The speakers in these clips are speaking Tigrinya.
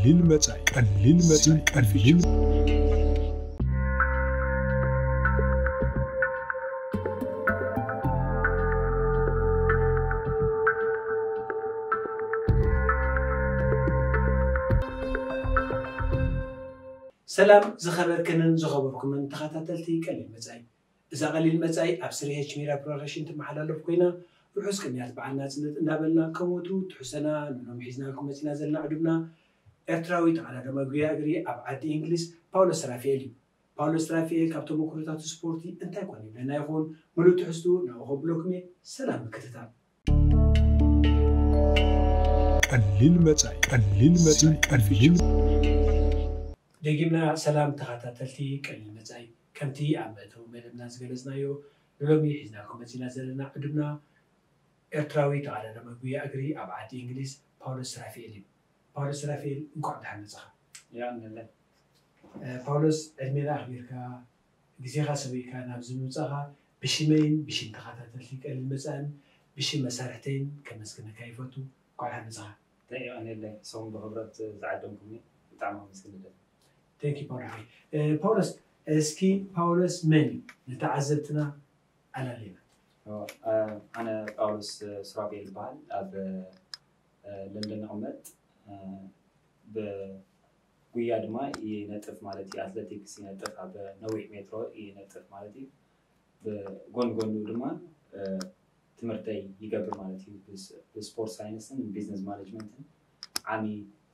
ቀሊል መጻኢ፣ ቀሊል መጻኢ፣ ቀሊል ሰላም ዝኸበርክንን ዝኸበርኩምን ተኸታተልቲ ቀሊል መጻኢ። እዛ ቀሊል መጻኢ ኣብ ስሪ ኤች ሚድያ ፕሮዳክሽን ትመሓላለፍ ኮይና፣ ርሑስ ቅንያት በዓል ናጽነት እናበልና፣ ከም ወትሩ ትሕዝቶና ንሎም ሒዝናልኩም መጺና ዘለና ዕዱምና ኤርትራዊ ተቐዳዳማይ ጉያ እግሪ ኣብ ዓዲ እንግሊዝ ፓውሎስ ራፋኤል እዩ። ፓውሎስ ራፋኤል ካብ ተመኩሮታቱ ስፖርቲ እንታይ ኮን ይብለና ይኾን? ምሉእ ትሕዝቱ ናብኡ ከብለኩም እየ። ሰላም ምክትታል። ቀሊል መጻኢ፣ ቀሊል መጻኢ፣ ቀሊል ደጊምና ሰላም ተኸታተልቲ ቀሊል መጻኢ። ከምቲ ኣብ መእተዊ መደብና ዝገለጽናዮ፣ ንሎሚ ሒዝናልኩም መጺና ዘለና ዕዱምና ኤርትራዊ ተቐዳዳማይ ጉያ እግሪ ኣብ ዓዲ እንግሊዝ ፓውሎስ ራፋኤል እዩ። ፓውሎስ ራፋኤል፣ እንኳዕ ደሓን መጻኻ። የቐንየለይ። እ፣ ፓውሎስ፣ ዕድሜና ኣኽቢርካ ግዜኻ ሰዊእካ ናብዚ ምምጻእኻ ብሽመይን ብሽም ተኸታተልቲ ቀሊል መጻእን ብሽም መሳርሕተይን ከመስግነካ ይፈቱ። እንኳዕ ደሓን መጻኻ። እንታይ የቐንየለይ፣ ንስኹም ብኽብረት ዝዓደምኩምኒ ብጣዕሚ ኣመስግን ደሊ። Thank you ፓውሎስ ሓወይ። እ፣ ፓውሎስ፣ እስኪ ፓውሎስ መን እዩ ንተዓዘብትና ኣላልየና። ኦ፣ እ፣ ኣነ ጳውሎስ ሱራፌል ይበሃል። ኣብ እ፣ ለንደን እቕመጥ። እ፣ ብጉያ ድማ ይነጥፍ ማለት እዩ። ኣትለቲክስ ይነጥፍ፣ ኣብ ነዊሕ ሜትሮ ይነጥፍ ማለት እዩ። ብጎን ጎኑ ድማ እ፣ ትምህርተይ ይገብር ማለት እዩ። ብስ- ብስፖርት ሳይንስን ቢዝነስ ማኔጅመንትን ዓሚ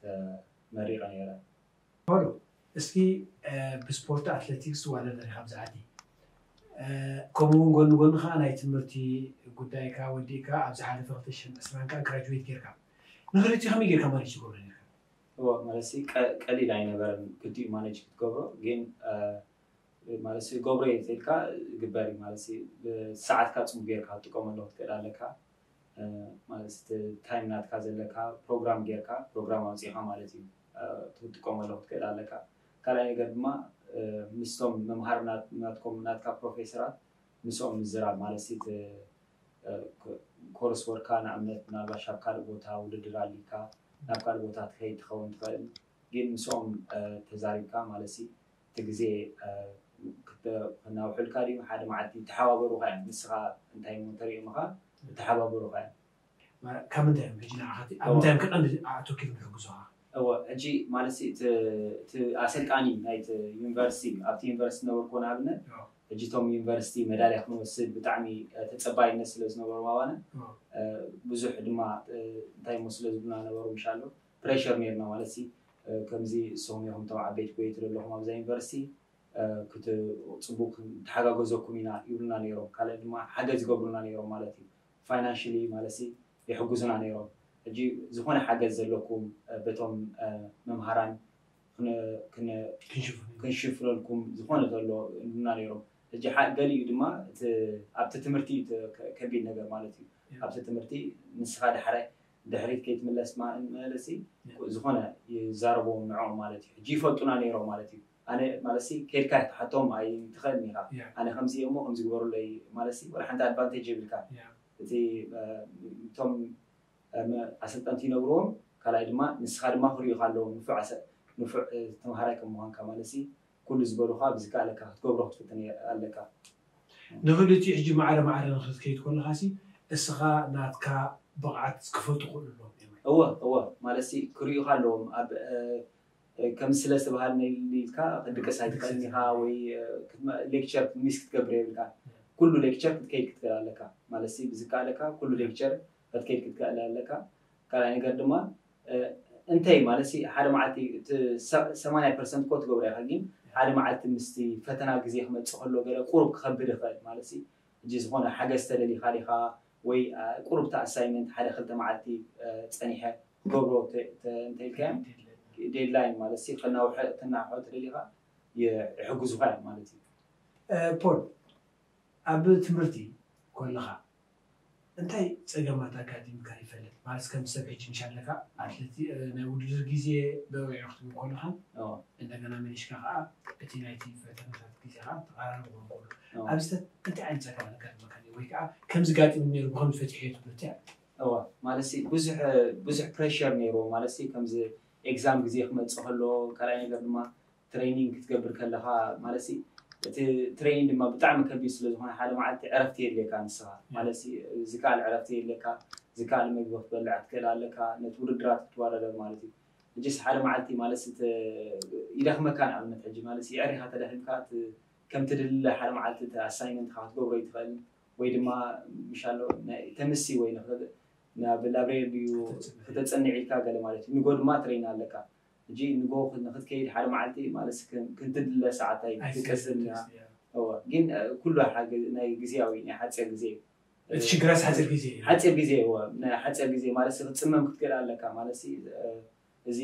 ተመሪቐ ነይረ። ፓውሎ፣ እስኪ እ፣ ብስፖርት ኣትሌቲክስ ትዋዳደር ኢኻ ኣብዚ ዓዲ። እ፣ ከምኡ እውን ጎኒ ጎኒ ከዓ ናይ ትምህርቲ ጉዳይካ ወዲእካ ኣብ ዝሓለፈ ክልተ ሽሕን ዕስራን ከዓ ግራጁዌት ጌርካ። ንክልቲኡ ከመይ ጌርካ ማኔጅ ትገብሮ ኔርካ? እዎ፣ ማለት ሲ ቀ- ቀሊል ኣይነበረን ክልቲኡ ማኔጅ ክትገብሮ። ግን እ፣ ማለት ሲ ገብሮ እየ ተልካ ይግበር እዩ። ማለት ሲ ሰዓትካ ፅቡቅ ጌርካ ክትጥቀመሉ ክትክእል ኣለካ። እ፣ ማለት እቲ ታይም ናትካ ዘለካ ፕሮግራም ጌርካ ፕሮግራም ኣውፂእካ ማለት እዩ። እ፣ ክትጥቀመሉ ክትክእል ኣለካ። ካልኣይ ነገር ድማ እ፣ ምስቶም መምሃር ናት- ናትኩም ናትካ ፕሮፌሰራት ምስኦም ምዝራብ ማለት ሲ እቲ እ፣ ኮ- ኮርስ ወርካ ንኣብነት ምናልባሽ ኣብ ካልእ ቦታ ውድድር ኣሊካ ናብ ካልእ ቦታ ትኸይድ ትኸውን ትኽእል። ግን ምስኦም እ፣ ተዛሪብካ ማለት ሲ እቲ ግዜ እ፣ ክተ- ክናውሕልካ ድዩ ሓደ መዓልቲ ተሓባበሩካ እዮም። ንስኻ እንታይ እሞ ተሪኦምኻ ተሓባበሩካ እዮም። ማለት ካብ ምንታይ እዮም ሕጂ ንዓኻ እቲ- ኣብ ምንታይ እዮም ከቐንዲ ኣተኪሩ ዝሕግዙኻ? እወ፣ ሕጂ ማለት ሲ እቲ እቲ ኣሰልጣኒ ናይቲ ዩኒቨርሲቲ ኣብቲ ዩኒቨርሲቲ ነበርኩ ንኣብነት። ሕጂ እቶም ዩኒቨርሲቲ መዳልያ ክንወስድ ብጣዕሚ እ፣ ተፀባይነት ስለ ዝነበሮም ኣባና እ፣ ብዙሕ ድማ እ፣ እንታይ እሞ ስለ ዝብሉና ነበሩ ምሻሎ ፕሬሸር ነርና ማለት ሲ እ፣ ከምዚ እሶም ኢኹም እቶም ዓበይቲ ጎየቲ ዘለኹም ኣብዛ ዩኒቨርሲቲ እ፣ ክት- ፅቡቅ ተሓጋገዘኩም ኢና ይብሉና ነይሮም። ካልእ ድማ ሓገዝ ይገብሩና ነይሮም ማለት እዩ። ፋይናንሽሊ ማለት ሲ ይሕግዙና ነይሮም። ሕጂ ዝኾነ ሓገዝ ዘለኩም እ፣ በቶም እ፣ መምሃራን ክነ- ክነ- ክንሽፍን ክንሽፍነልኩም ዝኾነ ዘሎ ይብሉና ነይሮም። ሕጂ ሓ- ገሊኡ ድማ እቲ ኣብቲ ትምህርቲ እቲ ከ- ከቢድ ነገር ማለት እዩ። ኣብቲ ትምህርቲ ንስኻ ዳሕራይ ድሕሪት ከይትምለስ ማ- ማለት ሲ ዝኾነ ይዛረብዎም ንዕኦም ማለት እዩ። ሕጂ ይፈልጡና ነይሮም ማለት እዩ። ኣነ ማለት ሲ ከድካ ክትሓቶም ኣይትኽእልን ኢኻ። ኣነ ከምዚ እሞ ከምዚ ግበሩለይ ማለት ሲ ወላ ሓንቲ ኣድቫንቴጅ የብልካ። እቲ እ፣ እቶም እ፣ መ- ኣሰልጠንቲ ይነግርዎም። ካልኣይ ድማ ንስኻ ድማ ክርእዩኻ ኣለዎም ንፉዕ ኣሰ- ንፉዕ እ፣ ተምሃራይ ከም ምዃንካ ማለት ሲ ኩሉ ዝበሉኻ ብዝከኣለካ ክትገብሮ ክትፍትን እየ- ኣለካ። ንክልቲኡ ሕጂ ማዕረ ማዕረ ንክትከይድ ከለኻ ሲ እስኻ ናትካ ብቕዓት ክፈልጡ ክኽእሉ ኣለዎም እዮም። እወ እወ ማለት ሲ ክርእዩኻ ኣለዎም ኣብ እ፣ እ፣ ከም ስለ ዝተባሃልነ ኢልካ ክትድቅስ ኣይትኽእልን ኢኻ ወይ እ፣ ክትመ- ሌክቸር ሚስ ክትገብር የብልካ። ኩሉ ሌክቸር ክትከይድ ክትክእል ኣለካ ማለት ሲ ብዝከኣለካ ኩሉ ሌክቸር ክትከይድ ክትክእል ኣለካ። ካልኣይ ነገር ድማ እ፣ እንተይ ማለት ሲ ሓደ መዓልቲ እቲ ሰ- ሰማንያ ፐርሰንት እኮ ትገብሮ ኢኻ፣ ግን ሓደ መዓልቲ ምስቲ ፈተና ግዜ ክመፅእ ከሎ ገለ ቁሩብ ክኸብድ ይኽእል ማለት ሲ ሕጂ ዝኾነ ሓገዝ ተደሊኻ ዲኻ ወይ እ፣ ቁሩብ እቲ ኣሳይመንት ሓደ ክልተ መዓልቲ እ፣ ፀኒሐ ክገብሮ ተ- ተ- እንተኢልካዮ ዴድላይን ማለት ሲ ክናውሐ ክናውሐ ተደሊኻ የ- ይሕግዙኻ እዮም ማለት እዩ። እ፣ ፖል፣ ኣብ ትምህርቲ ከለኻ እንታይ ጸገማት ኣጋጢምካ ይፈልጥ? ማለት ከም ሰብ ሕጂ ምሽ ኣለካ ኣትሌቲ እ፣ ናይ ውድድር ግዜ በቂዑ ክትብል ከለኻ እዎ። እንደገና መሊሽካ ከዓ እቲ ናይቲ ፈተናታት ግዜ ከዓ ተቐራረብ ክኸውን ከሎ እዎ። ኣብዚ እንታይ ዓይነት ጸገማት ኣጋጥመካ ነይሩ? ወይ ከዓ ከምዚ ጋጢሙ ነይሩ ብኸምዚ ፈቲሐ ትብሎ እንታይ ኣሎ? እዋ ማለት ሲ ብዙሕ ብዙሕ ፕሬሸር ነይሩ ማለት ሲ ከምዚ ኤግዛም ግዜ ክመፅእ ከሎ፣ ካልኣይ ነገር ድማ ትሬኒንግ ክትገብር ከለኻ ማለት ሲ እቲ ትሬኒንግ ድማ ብጣዕሚ ከቢድ ስለ ዝኾነ ሓደ መዓልቲ ዕረፍቲ የድልየካ ንስኻ ማለት ሲ ዝከኣል ዕረፍቲ የድልየካ፣ ዝከኣል ምግቢ ክትበልዕ ክትክእል ኣለካ፣ ነቲ ውድድራት ክትወዳደር ማለት እዩ። ሕጂስ ሓደ መዓልቲ ማለት ሲ ተ- ይደኽመካ ንኣብነት ሕጂ ማለት ሲ የዕሪኻ ተደኺምካ እቲ ከም ትድለ ሓደ መዓልቲ እቲ ኣሳይመንትካ ክትገብሮ ይትኽእል ወይ ድማ ምሻሎ ናይ ተምሲ ወይ ንኽእል ናብ ላብሬሪ ድዩ ክተፅንዕ ኢልካ ገለ ማለት እዩ። ንጎ ድማ ትሬን ኣለካ። ሕጂ ንጎ ንክትከይድ ሓደ መዓልቲ ማለት ክንትድለ ሰዓት ኣይትቀስን እያ። እዋ ግን ኩሉ ናይ ግዜያዊ ናይ ሓፂር ግዜ እዩ። እቲ ሽግረስ ሓፂር ግዜ እዩ። ሓፂር ግዜ እዋ ናይ ሓፂር ግዜ ማለት ክትፅመም ክትክእል ኣለካ ማለት እዚ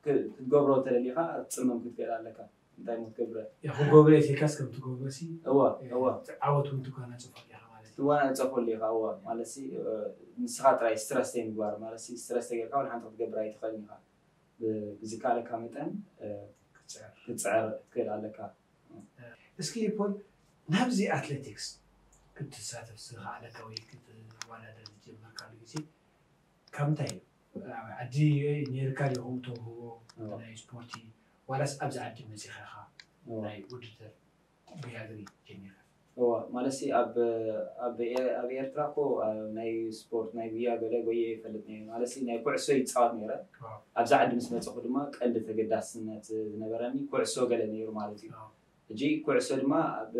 ክትገብሮ ተደሊካ ክትፅመም ክትክእል ኣለካ። እንታይ ሞ ክትገብረ ክገብረ ኢልካስ ከም ትገብሮ ሲ እዋ እዋ ዓወት እውን ትጓናፀፈሉ ኢኻ ማለት እዩ። ትዋናፀፈሉ ኢኻ እዋ ማለት ሲ ንስኻ ጥራይ ስትረስ ዘይምግባር ማለት ሲ ስትረስ ተጌርካ ወላ ሓንቲ ክትገብር ኣይትኽእልን ኢኻ። ብዝከኣለካ መጠን ክትፅዕር ክትክእል ኣለካ። እስኪ ፖል ናብዚ ኣትሌቲክስ ክትሳተፍ ዝኸኣለካ ወይ ክትወዳደር ዝጀመርካሉ ግዜ ካብ ምንታይ እዩ? ኣብ ዓዲ ነይርካ ዲኹም ተውህቦ ናይ ስፖርቲ ዋላስ ኣብዚ ዓዲ መፂኻ ኢኻ ናይ ውድድር ጉያ እግሪ ጀሚርካ? እዋ ማለት ሲ ኣብ ኣብ ኤ- ኣብ ኤርትራ እኮ ኣብ ናይ ስፖርት ናይ ጉያ ገለ ጎየ ይፈልጥ ነይረ ማለት ሲ ናይ ኩዕሶ ይፃወት ነይረ። ኣብዚ ዓዲ ምስ መፀኹ ድማ ቀንዲ ተገዳስነት ዝነበረኒ ኩዕሶ ገለ ነይሩ ማለት እዩ። ሕጂ ኩዕሶ ድማ ኣብ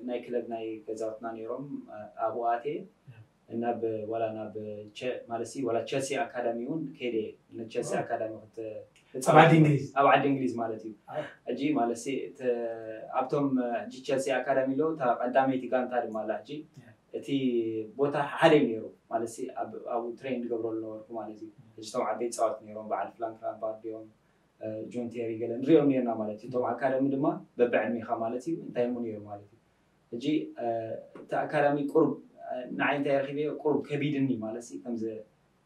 ናይ ክለብ ናይ ገዛውትና ነይሮም ኣብኡ ኣትየ ናብ ዋላ ናብ ማለት ሲ ዋላ ቸልሲ ኣካዳሚ እውን ከይደ እየ። ቸልሲ ኣካዳሚ ክተ- ኣብ ዓዲ እንግሊዝ ኣብ ዓዲ እንግሊዝ ማለት እዩ። ሕጂ ማለት ሲ ኣብቶም ሕጂ ቸልሲ ኣካዳሚ ኣለዉ እታ ቀዳመይቲ ጋንታ ድማ ኣላ። ሕጂ እቲ ቦታ ሓደ እዩ ነይሩ ማለት ሲ ኣብኡ ትሬን ዝገብረሉ ነበርኩ ማለት እዩ። ሕጂ እቶም ዓበይቲ ፃወት ነይሮም በዓል ፍራንክ ላምፓርድ እዮም ጆን ቴሪ ገለ ንሪኦም ነርና ማለት እዩ። እቶም ኣካዳሚ ድማ በብዕድሜኻ ማለት እዩ እንታይ እሞ ነይሩ ማለት እዩ። ሕጂ እቲ ኣካዳሚ ቁሩብ ንዓይ እንታይ ረኪበዮ ቁሩብ ከቢድኒ ማለት እዩ። ከምዚ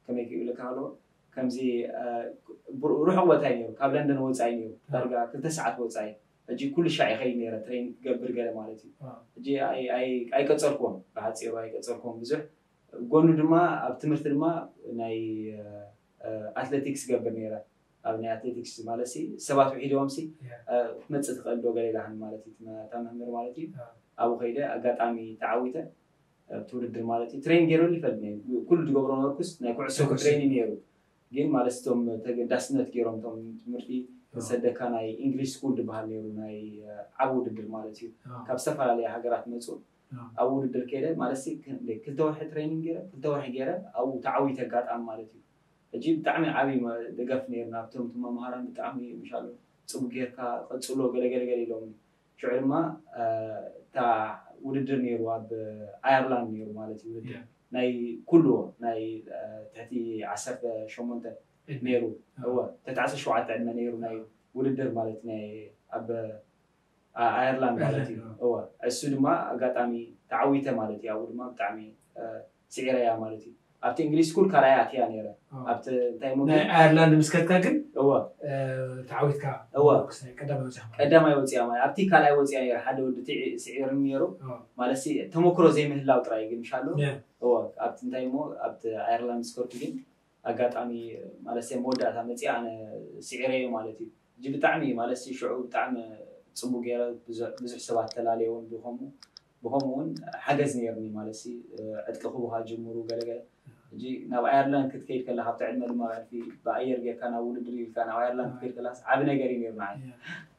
ከመይ ክብለካ ከለዎ ከምዚ ርሑቕ ቦታ እዩ ነይሩ፣ ካብ ለንደን ወፃኢ ነይሩ፣ ዳርጋ ክልተ ሰዓት ወፃኢ። ሕጂ ኩሉ ሻዕ ይኸይድ ነይረ ትሬን ክገብር ገለ ማለት እዩ። ሕጂ ኣይቀፀልክዎም፣ ብሓፂሩ ኣይቀፀልክዎም ብዙሕ። ጎኑ ድማ ኣብ ትምህርቲ ድማ ናይ ኣትሌቲክስ ገብር ነይረ። ኣብ ናይ ኣትሌቲክስ ማለት ሲ ሰባት ውሒድዎም ሲ ክትመፅእ ትኽእል ዶ ገለ ኢላኒ ማለት እዩ እታ መምህር ማለት እዩ። ኣብኡ ከይደ ኣጋጣሚ ተዓዊተ ኣብቲ ውድድር ማለት እዩ ትሬን ገይረሉ ይፈልጥ ነይሩ። ኩሉ ዝገብሮ ነበርኩስ ናይ ኩዕሶ ትሬን ነይሩ። ግን ማለት እቶም ተገዳስነት ገይሮም እቶም ትምህርቲ ዝሰደካ ናይ ኢንግሊሽ ስኩል ዝበሃል ነይሩ ናይ ዓብ ውድድር ማለት እዩ። ካብ ዝተፈላለየ ሃገራት መፁ ኣብ ውድድር ከይደ ማለት ሲ ክልተ ወርሒ ትሬኒንግ ገይረ ክልተ ወርሒ ገይረ ኣብኡ ተዓዊተ ኣጋጣሚ ማለት እዩ። ሕጂ ብጣዕሚ ዓብዪ ደገፍ ነይሩ ናብቶም እቶም መምሃራን ብጣዕሚ ምሻሉ ፅቡቅ ጌርካ ቀፅሎ ገለገለገለ ኢሎም። ሽዑ ድማ እታ ውድድር ነይሩ ኣብ ኣየርላንድ ነይሩ ማለት እዩ ውድድር ናይ ኩሉ ናይ ትሕቲ ዓሰርተ ሸሞንተ ነይሩ። እወ ትሕቲ ዓሰርተ ሸውዓተ ዕድመ ነይሩ ናይ ውድድር ማለት ናይ ኣብ ኣየርላንድ ማለት እዩ። እወ እሱ ድማ ኣጋጣሚ ተዓዊተ ማለት እዩ። ኣብኡ ድማ ብጣዕሚ ስዒረያ ማለት እዩ። ኣብቲ እንግሊዝ ስኩል ካልኣይ ኣትያ ነይረ። ኣብቲ እንታይ ሞ ናይ ኣየርላንድ ምስከድካ ግን እወ ተዓዊትካ እወ ቀዳማይ ወፂኻ ማለት ቀዳማይ ወፂያ ማለት ኣብቲ ካልኣይ ወፂያ ነይረ። ሓደ ወዲ ስዒርኒ ነይሩ ማለት ተመክሮ ዘይምህላው ጥራይ ግን ምሻሉ እወ ኣብቲ እንታይ ሞ ኣብቲ ኣየርላንድ ምስከድኩ ግን ኣጋጣሚ ማለት መወዳእታ መፂኣ ኣነ ስዒረዮ ማለት እዩ። ሕጂ ብጣዕሚ ማለት ሽዑ ብጣዕሚ ፅቡቅ ገይረ ብዙሕ ሰባት ተላለየውን ብከምኡ ብከምኡ እውን ሓገዝ ነይርኒ ማለት ሲ ዕጥቂ ክቡካ ጅምሩ ገለገለ ሕጂ ናብ ኣየርላንድ ክትከይድ ከለካ ኣብቲ ዕድመ ድማ ብሕልፊ ብኣየር ጌርካ ናብ ውድድር ኢልካ ናብ ኣየርላንድ ክትከይድ ከለካ ዓብ ነገር እዩ ነይሩ ንዓይ።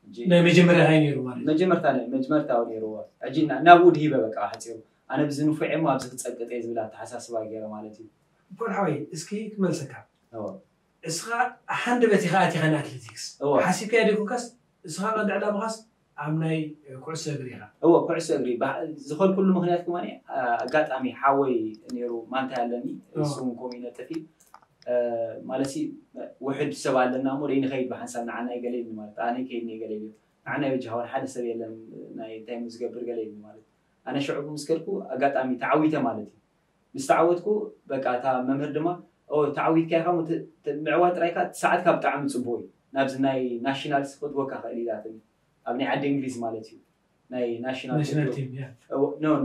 ሕጂ ናይ መጀመርያ እንታይ ነይሩ ማለት እዩ? መጀመርታ ናይ መጀመርታ ነይርዎ ሕጂ ናብኡ ድሂበ በቃ ሓፂሩ ኣነ ብዚ ንፉዕ እሞ ኣብዚ ክፀቅጥ እየ ዝብል ኣተሓሳስባ ገይረ ማለት እዩ። ፖል ሓወይ እስኪ ክመልሰካ እወ እስኻ ሓንደበት ኢኻ ኣቲኻ ንኣትሌቲክስ እወ ሓሲብካዮ ዶ ይኮንካስ እስኻ ቀንዲ ዕላማኻስ ኣብ ናይ ኩዕሶ እግሪ ኢኻ እወ ኩዕሶ እግሪ ዝኸድኩሉ ምኽንያት ድማ ኣጋጣሚ ሓወይ ነይሩ ማንታይ ኣለኒ እሱ እውን ከምኡ ይነጥፍ እዩ ማለትሲ ውሕድ ሰብ ኣለና እሞ ደይንኸይድ ብሓንሳብ ንዓና ይገለ ኢልኒ ማለት ኣነ ይከይድኒ ይገለ ኢሉ ንዓና ይበጃኻ ሓደ ሰብ የለን ናይ እንታይ ዝገብር ገለ ኢልኒ ማለት ኣነ ሽዑ ምስ ከድኩ ኣጋጣሚ ተዓዊተ ማለት እዩ ምስ ተዓወትኩ በቃ እታ መምህር ድማ ተዓዊትካ ኢኻ ምዕዋት ጥራይካ ሰዓትካ ብጣዕሚ ፅቡቅ እዩ ናብዚ ናይ ናሽናልስ ክትወካ ክእል ኢላትኒ ኣብ ናይ ዓዲ እንግሊዝ ማለት እዩ ናይ ናሽናል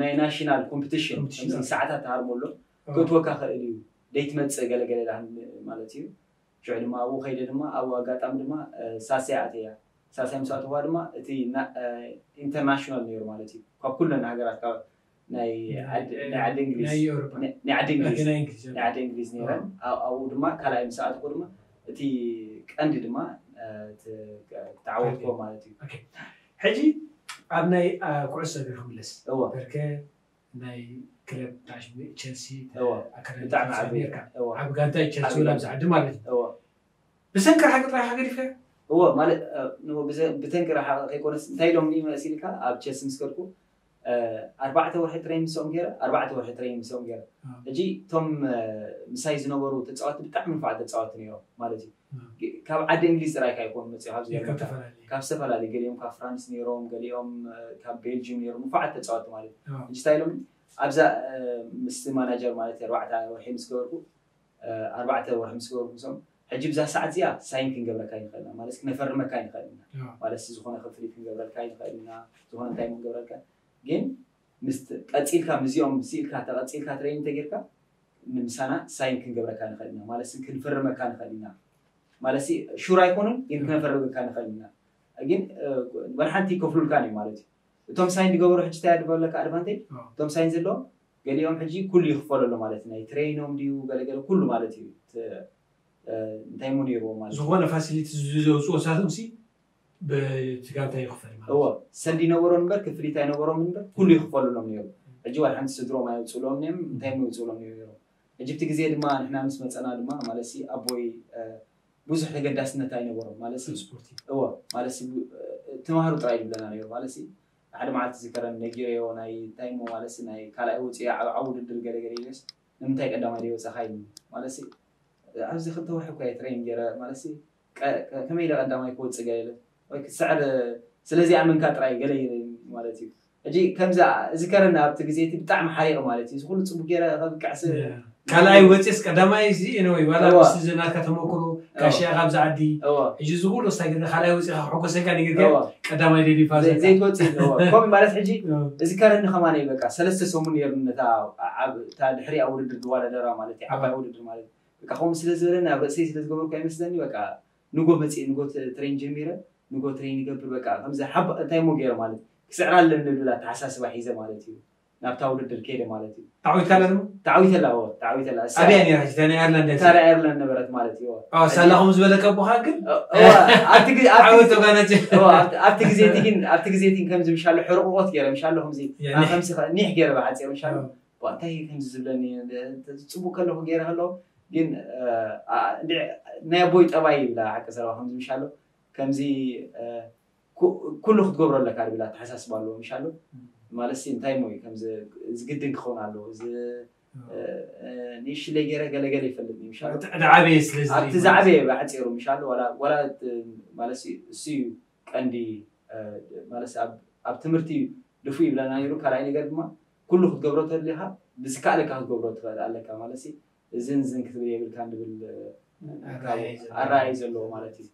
ናይ ናሽናል ኮምፒቲሽን ሰዓታት ትሃርሞ ኣሎ ክትወካ ክእል እዩ ደይትመፅእ ገለገለ ኢላትኒ ማለት እዩ ሽዑ ድማ ኣብኡ ከይደ ድማ ኣብኡ ኣጋጣሚ ድማ ሳስያ ኣትያ። ሳስያ ምስ ኣተዋ ድማ እቲ ኢንተርናሽናል ነይሩ ማለት እዩ። ካብ ኩለን ሃገራት ካብ ናይ ዓዲ እንግሊዝ ናይ ዓዲ እንግሊዝ ናይ ዓዲ እንግሊዝ ነይረን። ኣብኡ ድማ ካልኣይ ምስ ኣተኹ ድማ እቲ ቀንዲ ድማ ተዓወትኮ ማለት እዩ። ሕጂ ኣብ ናይ ኩዕሶ እግሪ ክምለስ በርከ ናይ ክለብ ቸልሲ ኣካዳሚ ዓቢ ጋንታ ቸልሲ ወላ ኣብዚ ዓዲ ማለት እዩ። ብሰንኪ ረሓቂ ጥራይ ገዲፍካዮ? እዎ ማለት ብተንኪ ረሓቂ ከይኮነስ እንታይ ኢሎም መሲልካ ኣብ ቸልሲ ምስ ከድኩ ኣርባዕተ ወርሒ ትሬን ምስኦም ገይረ ኣርባዕተ ወርሒ ትሬን ምስኦም ገይረ ሕጂ እቶም ምሳይ ዝነበሩ ተፃወቲ ብጣዕሚ ንፋዓት ተፃወቲ ነይሮም ማለት እዩ። ካብ ዓዲ እንግሊዝ ጥራይ ካይኮኑ መፅኡ ካብ ዝተፈላለዩ ገሊኦም ካብ ፍራንስ ነይሮም፣ ገሊኦም ካብ ቤልጅም ነይሮም፣ ንፋዓት ተፃወቲ ማለት እዩ። ሕጂ እንታይ ኢሎም ኣብዛ ምስ ማናጀር ማለት ኣርባዕተ ወርሒ ምስ ገበርኩ ኣርባዕተ ወርሒ ምስ ገበርኩ ምስኦም ሕጂ ብዛ ሰዓት እዚኣ ሳይን ክንገብረካ ይንኽእል ኢና ማለት ክነፈርመካ ይንኽእል ኢና ማለት ዝኾነ ክፍሊት ክንገብረልካ ይንኽእል ኢና ዝኾነ እንታይ ክንገብረልካ ግን ምስ ቀፂልካ ምስዚኦም ስኢልካ ተቐፂልካ ትሬኒንግ ተጌርካ ንምሳና ሳይን ክንገብረካ ንኽእል ኢና ማለት ክንፈርመካ ንኽእል ኢና ማለት ሹር ኣይኮኑን ግን ክነፈርመካ ንኽእል ኢና ግን ወላ ሓንቲ ይከፍሉልካ እዩ ማለት እዩ እቶም ሳይን ዝገበሩ ሕጂ እንታይ ድበለካ ኣድቫንቴጅ እቶም ሳይን ዘለዎም ገሊኦም ሕጂ ኩሉ ይኽፈለሉ ማለት ናይ ትሬኖም ድዩ ገለገለ ኩሉ ማለት እዩ እንታይ ሞ ነይርዎ ማለት ዝኾነ ፋሲሊቲ ዘውፅኦ ሳቶም ሲ ብትጋንታ ይኽፈል ማለት እዎ ሰልዲ ነበሮም እምበር ክፍሊት ኣይነበሮም እምበር ኩሉ ይኽፈሉሎም ነይሩ ሕጂ ዋላ ሓንቲ ስድሮም ኣይውፅእሎም ነም እንታይ ሞ ይውፅእሎም ነይሩ ሕጂ እቲ ግዜ ድማ ንሕና ምስ መፀና ድማ ማለት ኣቦይ ብዙሕ ተገዳስነት ኣይነበሮም ማለት ስፖርቲ እዎ ማለት ተማሃሩ ጥራይ ይብለና ነይሩ ማለት ሓደ መዓልቲ ዝከረን ነጊረዮ ናይ እንታይ ሞ ማለት ናይ ካልኣይ ውፅኢ ዓብ ውድድር ገለገለ ኢለስ ንምንታይ ቀዳማይ ዘይወፀኻ ኢሉ ማለት ኣብዚ ክልተ ወርሒ እኳ ትሬን ገይረ ማለት ከመይ ኢለ ቀዳማይ ክወፅእ ገለ ኢለ ወይ ክስዕር ስለዚ ኣመንካ ጥራይ ገለ ኢለ ማለት እዩ ሕጂ ከምዚ እዚ ከረን ኣብቲ ግዜ እቲ ብጣዕሚ ሓሪቕ ማለት እዩ እዚ ኩሉ ፅቡቅ ገይረ ከብቅዕ ስ ካልኣይ ወፂስ ቀዳማይ እዚ ወይ ዋላ ምስ ናትካ ተመክሮ ካሽያ ካብዚ ዓዲ ሕጂ እዚ ኩሉ ስታይ ገለ ካልኣይ ወፂኻ ክሕጎሰካ ነገር ገለ ቀዳማይ ደሊፋ ዘይትወፅእ ኣለዎ ከምኡ ማለት ሕጂ እዚ ከረኒ ከማን በቃ ሰለስተ ሰሙን ነይሩ ነታ ድሕሪ ኣብ ውድድር ዝዋዳደራ ማለት እዩ ዓባይ ውድድር ማለት በቃ ከምኡ ስለ ዝበለኒ ኣብ ርእሰይ ስለ ዝገበርኩ ኣይመስለኒ በቃ ንጎ መፅእ ንጎ ትሬን ጀሚረ ንጎ ትሬን ይገብር በቃ ከምዚ ሓባ እንታይ ሞ ገይረ ማለት ክስዕራ ኣለኒ ዝብል ኣተሓሳስባ ሒዘ ማለት እዩ ናብታ ውድድር ከይደ ማለት እዩ። ተዓዊትካላ ድማ? ተዓዊተላ፣ እወ፣ ተዓዊተላ። እሳ- ኣበያ ነይራ ሕጂ? እታ ናይ ኣየርላንድ እያ? እታ ናይ ኣየርላንድ ነበረት ማለት እዩ። እወ። ኣዎ፣ ሳላ ከምኡ ዝበለካ ኣቦኻ ግን እወ፣ ኣብቲ ግዜ- ኣብቲ ዓወት ግዜ- ተጓናጽ። እወ፣ ኣብቲ- ኣብቲ ግዜ እቲ ግን ኣብቲ ግዜ እቲ ግን ከምዚ ምሻሎ ሕርቕቆት ገይረ ምሻሎ ከምዚ ያኔ። ከምዚ ከ- ኒሕ ገይረ ብሓፂር ምሻሎ እወ። ዋ፣ እንታይ እዩ ከምዚ ዝብለኒ ጽቡቅ ከለኹ ገይረ ከለኹ ግን እ፣ ኣ- እንድዒ ናይ ኣቦይ ጠባይ ይብላ ሓቂ ዘረባ ከምዚ ምሻሎ ከምዚ እ፣ ኩ- ኩሉ ክትገብሮ ኣለካ ዝብል ኣተሓሳስባ ኣለዎ ምሻሎ ማለት ሲ እንታይ ሞ እዩ ከምዚ እዚ ግድን ክኸውን ኣለዎ እዚ እ፣ እ፣ ንእሽለይ ገይረ ገለገለ ይፈልጥ እዩ ምሻሎ እቲ ዕዳ ዓበየ ስለ ዝርኢ ኣብቲ ማለት ዝዓበየ ብሓፂሩ ምሻሎ ዋላ ዋላ እቲ ማለት ሲ- እሱ እዩ ቀንዲ እ፣ ማለት ሲ ኣብ- ኣብ ትምህርቲ ድፉ ይብለና ነይሩ ካልኣይ ነገር ድማ ኩሉ ክትገብሮ ተድሊኻ ብዝከኣለካ ክትገብሮ ትኽእል ኣለካ ማለት ሲ እዝን ዝን ክትብል የብልካን ዝብል ኣራእይ ዘለዎ ማለት እዩ።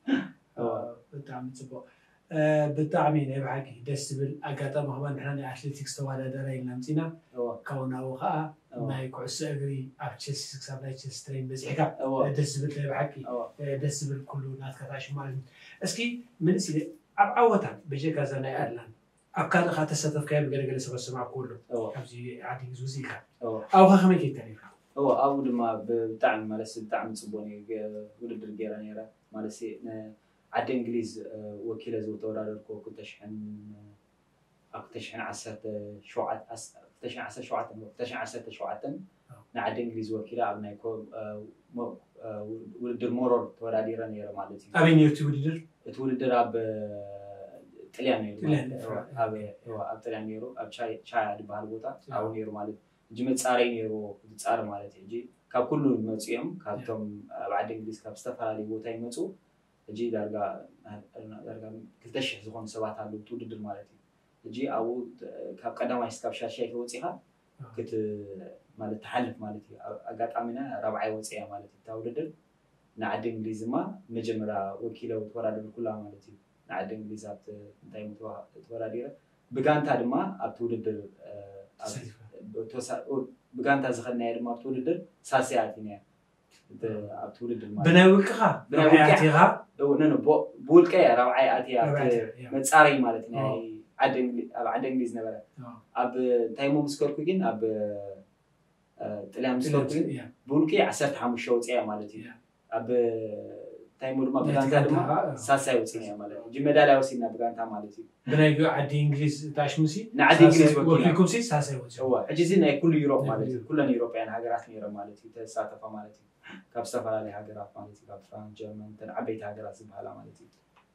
ብጣዕሚ ፅቡቅ ብጣዕሚ ናይ ብሓቂ ደስ ዝብል ኣጋጣሚ ከማ ንሕና ናይ ኣትሌቲክስ ተወዳደራ ኢልና ምፂና ካብኡ ናብኡ ከዓ ናይ ኩዕሶ እግሪ ኣብ ቸልሲ ክሳብ ናይ ቸልሲ ትሬን በፂሕካ ደስ ዝብል ናይ ብሓቂ ደስ ዝብል ኩሉ ናትካ ታሽሙ ማለት እዩ። እስኪ ምንስ ኣብ ዓወታት በጀካ እዛ ናይ ኣየርላንድ ኣብ ካልእ ከዓ ተሳተፍካዮም ገለገለ ሰባት ዝሰማዕኩ ኣሎ እወ። ካብዚ ዓዲ እንግሊዝ ውፅእ ኢልካ እወ። ኣብኡ ከ ከመይ ከይድካ ነርካ እወ ኣብኡ ድማ ብጣዕሚ ማለት ብጣዕሚ ፅቡቅ ነይሩ ገ- ውድድር ገይረ ነይረ ማለት ሲ- ን- ዓዲ እንግሊዝ እ፣ ወኪለ ዝተወዳደርኩ ክልተ ሽሕን ኣብ ክልተ ሽሕን ዓሰርተ ሸውዓተ ዓስ- ክልተ ሽሕን ዓሰርተ ሸውዓተ ክልተ ሽሕን ዓሰርተ ሸውዓተን ንዓዲ እንግሊዝ ወኪለ ኣብ ናይ ኮ- እ፣ ሞ- እ፣ ውድድር ሞሮር ተወዳዲረ ነይረ ማለት እዩ ኣበይ ነይሩ እቲ ውድድር እቲ ውድድር ኣብ ጥልያን ነይሩ ጥልያን ማለት እዩ። ኣብ ኣብ ጥልያን ነይሩ ኣብ ቻይ- ቻያ ዝበሃል ቦታ ኣብኡ ነይሩ ማለት እዩ። ሕጂ መፃረይ ነይሩ ዝፃር ማለት እዩ። ሕጂ ካብ ኩሉ ዝመፁ እዮም ካብቶም ኣብ ዓዲ እንግሊዝ ካብ ዝተፈላለዩ ቦታ ይመፁ። ሕጂ ዳርጋ ዳርጋ ክልተ ሽሕ ዝኾኑ ሰባት ኣለዉ እቲ ውድድር ማለት እዩ። ሕጂ ኣብኡ ካብ ቀዳማይ እስካብ ሻድሻይ ተወፂኻ ክት ማለት ትሓልፍ ማለት እዩ። ኣጋጣሚና ራብዓይ ወፂያ ማለት እዩ እታ ውድድር ንዓዲ እንግሊዝ ድማ መጀመርያ ወኪለ ተወዳደርኩላ ማለት እዩ። ንዓዲ እንግሊዝ ኣብቲ እንታይ ተወዳዲረ ብጋንታ ድማ ኣብቲ ውድድር ብጋንታ ዝኸድናዮ ድማ ኣብቲ ውድድር ሳልሳይ ኣቲናዮ። ኣብቲ ውድድር ማለት ብናይ ውልቅኻ ብናይ ራብዓይ ውልቅኻ? ኣቲኻ እው፣ ነ ነ፣ ቦ- ብውልቀ ራብዓይ ኣትያ ራብዓይ ኣትያ፣ ያ። መፃረይ ማለት ናይ ኦ። ዓዲ እንግሊ- ኣብ ዓዲ እንግሊዝ ነበረ። ኦ። ኣብ እንታይ ሞ ምስ ከድኩ ግን ኣብ እ፣ ጥልያን ምስ ከድኩ ግን ያ። ብውልቂ ዓሰርተ ሓሙሽተ ወፅያ ማለት እዩ። ያ። ኣብ እንታይ ሞ ድማ ናይቲ ብጋንታ ድማ ጋንታ፣ እ። ሳሳይ ወፅያ ማለት እዩ። ሕጂ መዳልያ ወሲድና ብጋንታ ማለት እዩ። ብናይ ዓዲ እንግሊዝ ታሽሙሲ ንዓዲ እንግሊዝ ወኪልና። ወኪልኩም ሲ ሳሳይ ወፂ እዋ፣ ሕጂ እዚ ናይ ኩሉ ዩሮፕ ናይ ማለት ኩሉ እዩ። ኩለን ዩሮፕያን ሃገራት ነይረ ማለት እዩ ተሳተፋ ማለት እዩ። ካብ ዝተፈላለዩ ሃገራት ማለት እዩ፣ ካብ ፍራንስ፣ ጀርመን፣ እተን ዓበይቲ ሃገራት ዝበሃላ ማለት እዩ።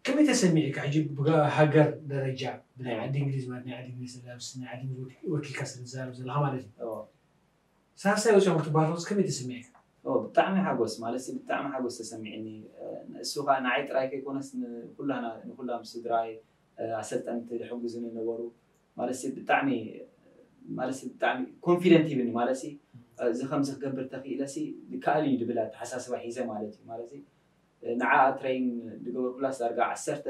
ከመይ ተሰሚዕካ? ሕጂ ብሃገር ደረጃ ብናይ ዓዲ እንግሊዝ ማለት ናይ ዓዲ እንግሊዝ ለብስ ናይ ዓዲ እንግሊዝ ወኪ- ወኪልካ ስለ ትዛረብ ዘለካ ማለት እዩ። እዎ። ሳሳይ ወፂኦም ክትባህልስ ከመይ ተሰሚዕካ? ኦ፣ ብጣዕሚ ሓጎስ ማለት ሲ ብጣዕሚ ሓጎስ ተሰሚዕኒ። እ፣ እሱ ከዓ ንዓይ ጥራይ ከይኮነስ ንኩላና ንኩላም ስድራይ፣ እ፣ ኣሰልጠንቲ ዝሕግዙኒ ነበሩ። ማለት ሲ ብጣዕሚ ማለት ሲ ብጣዕሚ ኮንፊደንት ይብኒ ማለት ሲ፣ እ፣ እዚ ከምዚ ክገብር ተኽኢለ ሲ ይከኣል እዩ ድብል ኣተሓሳስባ ሒዘ ማለት እዩ። ማለት ሲ ንዓ ትሬን ዝገበርኩላ ዳርጋ ዓሰርተ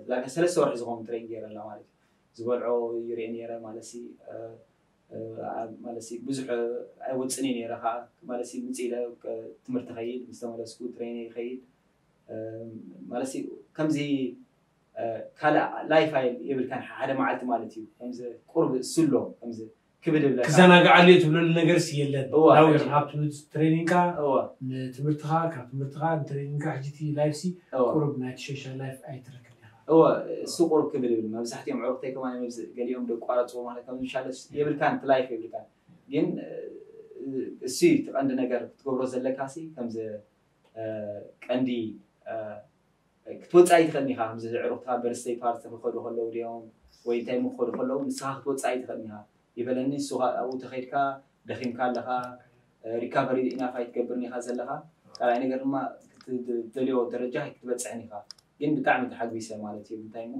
ዳርጋ ሰለስተ ወርሒ ዝኸውን ትሬን ገይረ ኣላ ማለት እዩ። ዝበልዖ ይሪኦ ነይረ ማለት ሲ፣ እ፣ እ፣ ማለት ሲ ብዙሕ ኣይወፅን እዩ ነይረ ከዓ ማለት ሲ ምፅ ኢለ እ፣ ትምህርቲ ከይድ ምስ ተመለስኩ ትሬን ይኸይድ፣ እ፣ ማለት ሲ ከምዚ፣ እ፣ ካልእ ላይፍ ኣይ የብልካን ሓደ መዓልቲ ማለት እዩ። ከምዚ ቁርብ ስሎ ከምዚ ክብድ ይብለካ። ክዘናግዓሉ እዩ ትብለሉ ነገር ሲ የለን። እዋ፣ ናው ሕጂ- ሃብቱ ትሬኒንግካ እዋ፣ ንትምህርትኻ ካብ ትምህርትኻ ንትሬኒንግካ ሕጂ እቲ ላይፍ ሲ እዋ። ቁሩብ ናይቲ ሶሻል ላይፍ ኣይትረክብ ኢኻ። እወ፣ እሱ ቁሩብ ክብል ይብል። መብዛሕትኦም ዕሩኽተይ ከማን መብዝ ገሊኦም ደቋረፅዎ ማለት ከም ዝሻለ የብልካን እቲ ላይፍ የብልካን። ግን እ፣ እሱ እዩ እቲ ቀንዲ ነገር ክትገብሮ ዘለካ ሲ ከምዚ እ፣ ቀንዲ እ፣ ክትወፅእ ኣይትኽእልን ኢኻ። ከምዚ ዕሩኽትኻ በርስደይ ፓርቲ ክኸዱ ከለዉ ድዮም ወይ እንታይ ክኸዱ ከለዉ ንስኻ ክትወፅእ ኣይትኽእልን ኢኻ ይበለኒ። እሱ ከዓ ኣብኡ ተኸይድካ ደኺምካ ኣለኻ፣ ሪካቨሪ ኢናፍ ኣይትገብርን ኢኻ ዘለኻ። ካልኣይ ነገር ድማ እቲ ትደልዮ ደረጃ ኣይክትበፅሕን ኢኻ። ግን ብጣዕሚ ተሓጒሰ ማለት እዩ። እንታይ እሞ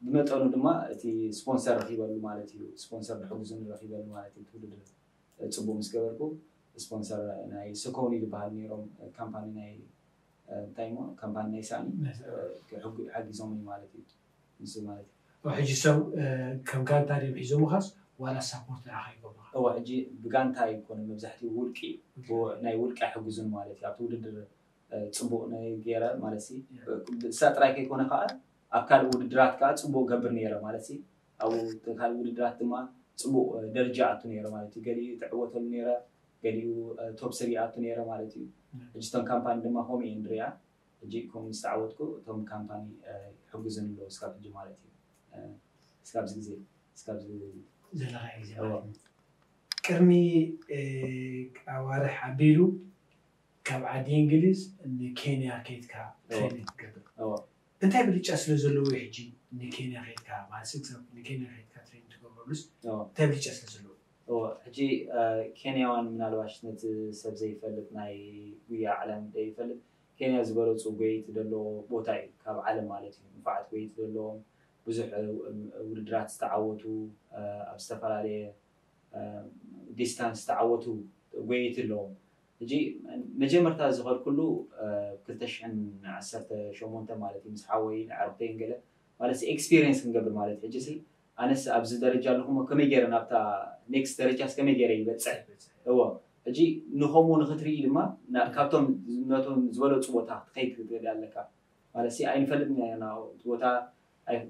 ብመጠኑ ድማ እቲ ስፖንሰር ረኺበሉ ማለት እዩ። ስፖንሰር ዝሕግዙኒ ረኺበሉ ማለት እዩ። እቲ ውድድር ፅቡቅ ምስ ገበርኩ ስፖንሰር ናይ ሰኮኒ ዝበሃል ነይሮም ካምፓኒ ናይ እንታይ እሞ ካምፓኒ ናይ ሳኒ ሓጊዞም ማለት እዩ። ንሱ ማለት እዩ። ሕጂ ሰብ ከም ጋንታ ድም ሒዞምኻስ ዋላ ሳፖርት ንዓኻ ይገብሩኻ? እወ፣ ሕጂ ብጋንታ ይኮነ መብዛሕትኡ ውልቂ ናይ ውልቂ ኣይሕግዙን ማለት እዩ። ኣብቲ ውድድር ፅቡቅ ገይረ ማለት ሲ እሳ ጥራይ ከይኮነ ከዓ ኣብ ካልእ ውድድራት ከዓ ፅቡቅ ገብር ነይረ ማለት ሲ ኣብኡ ካልእ ውድድራት ድማ ፅቡቅ ደረጃ ኣቱ ነይረ ማለት እዩ። ገሊኡ ትዕወተሉ ነይረ፣ ገሊኡ ቶፕ ስሪ ኣቱ ነይረ ማለት እዩ። ሕጂ እቶም ካምፓኒ ድማ ከምኡ እየ ንሪኣ። ሕጂ ከምኡ ምስ ተዓወትኩ እቶም ካምፓኒ ይሕግዙኒ ኣለዉ እስካብ ሕጂ ማለት እዩ። እስካብዚ ግዜ እስካብዚ ዘለካ ግዜ ማለት እዩ። ቅድሚ ኣዋርሕ ኣቢሉ ካብ ዓዲ እንግሊዝ ንኬንያ ከይድካ ትሬኒንግ ትገብር። እንታይ ብልጫ ስለ ዘለዎ እዩ ሕጂ ንኬንያ ከይድካ ማለት ንኬንያ ከይድካ ትሬኒንግ ትገብረሉስ እንታይ ብልጫ ስለ ዘለዎ? ሕጂ ኬንያዋን ምናልባሽ ነቲ ሰብ ዘይፈልጥ ናይ ጉያ ዓለም ዘይፈልጥ ኬንያ ዝበለፁ ጎየይቲ ዘለዎ ቦታ እዩ ካብ ዓለም ማለት እዩ። ንፉዓት ጎየይቲ ዘለዎም ብዙሕ ውድድራት ዝተዓወቱ ኣብ ዝተፈላለየ ዲስታንስ ዝተዓወቱ ጎየይቲ ኣለዎም። ሕጂ መጀመርታ ዝኸድኩሉ ክልተ ሽሕን ዓሰርተ ሸሞንተ ማለት እዩ ምስ ሓወይ ንዓርክተይን ገለ ማለት ኤክስፒሪየንስ ክንገብር ማለት ሕጂ ሲ ኣነስ ኣብዚ ደረጃ ኣለኹ እሞ ከመይ ገይረ ናብታ ኔክስት ደረጃስ ከመይ ገይረ ይበፅሕ? እዎ ሕጂ ንኸምኡ ንክትርኢ ድማ ካብቶም ነቶም ዝበለፁ ቦታ ክትኸይድ ክትርኢ ኣለካ ማለት ሲ ኣይንፈልጥን ኢና እቲ ቦታ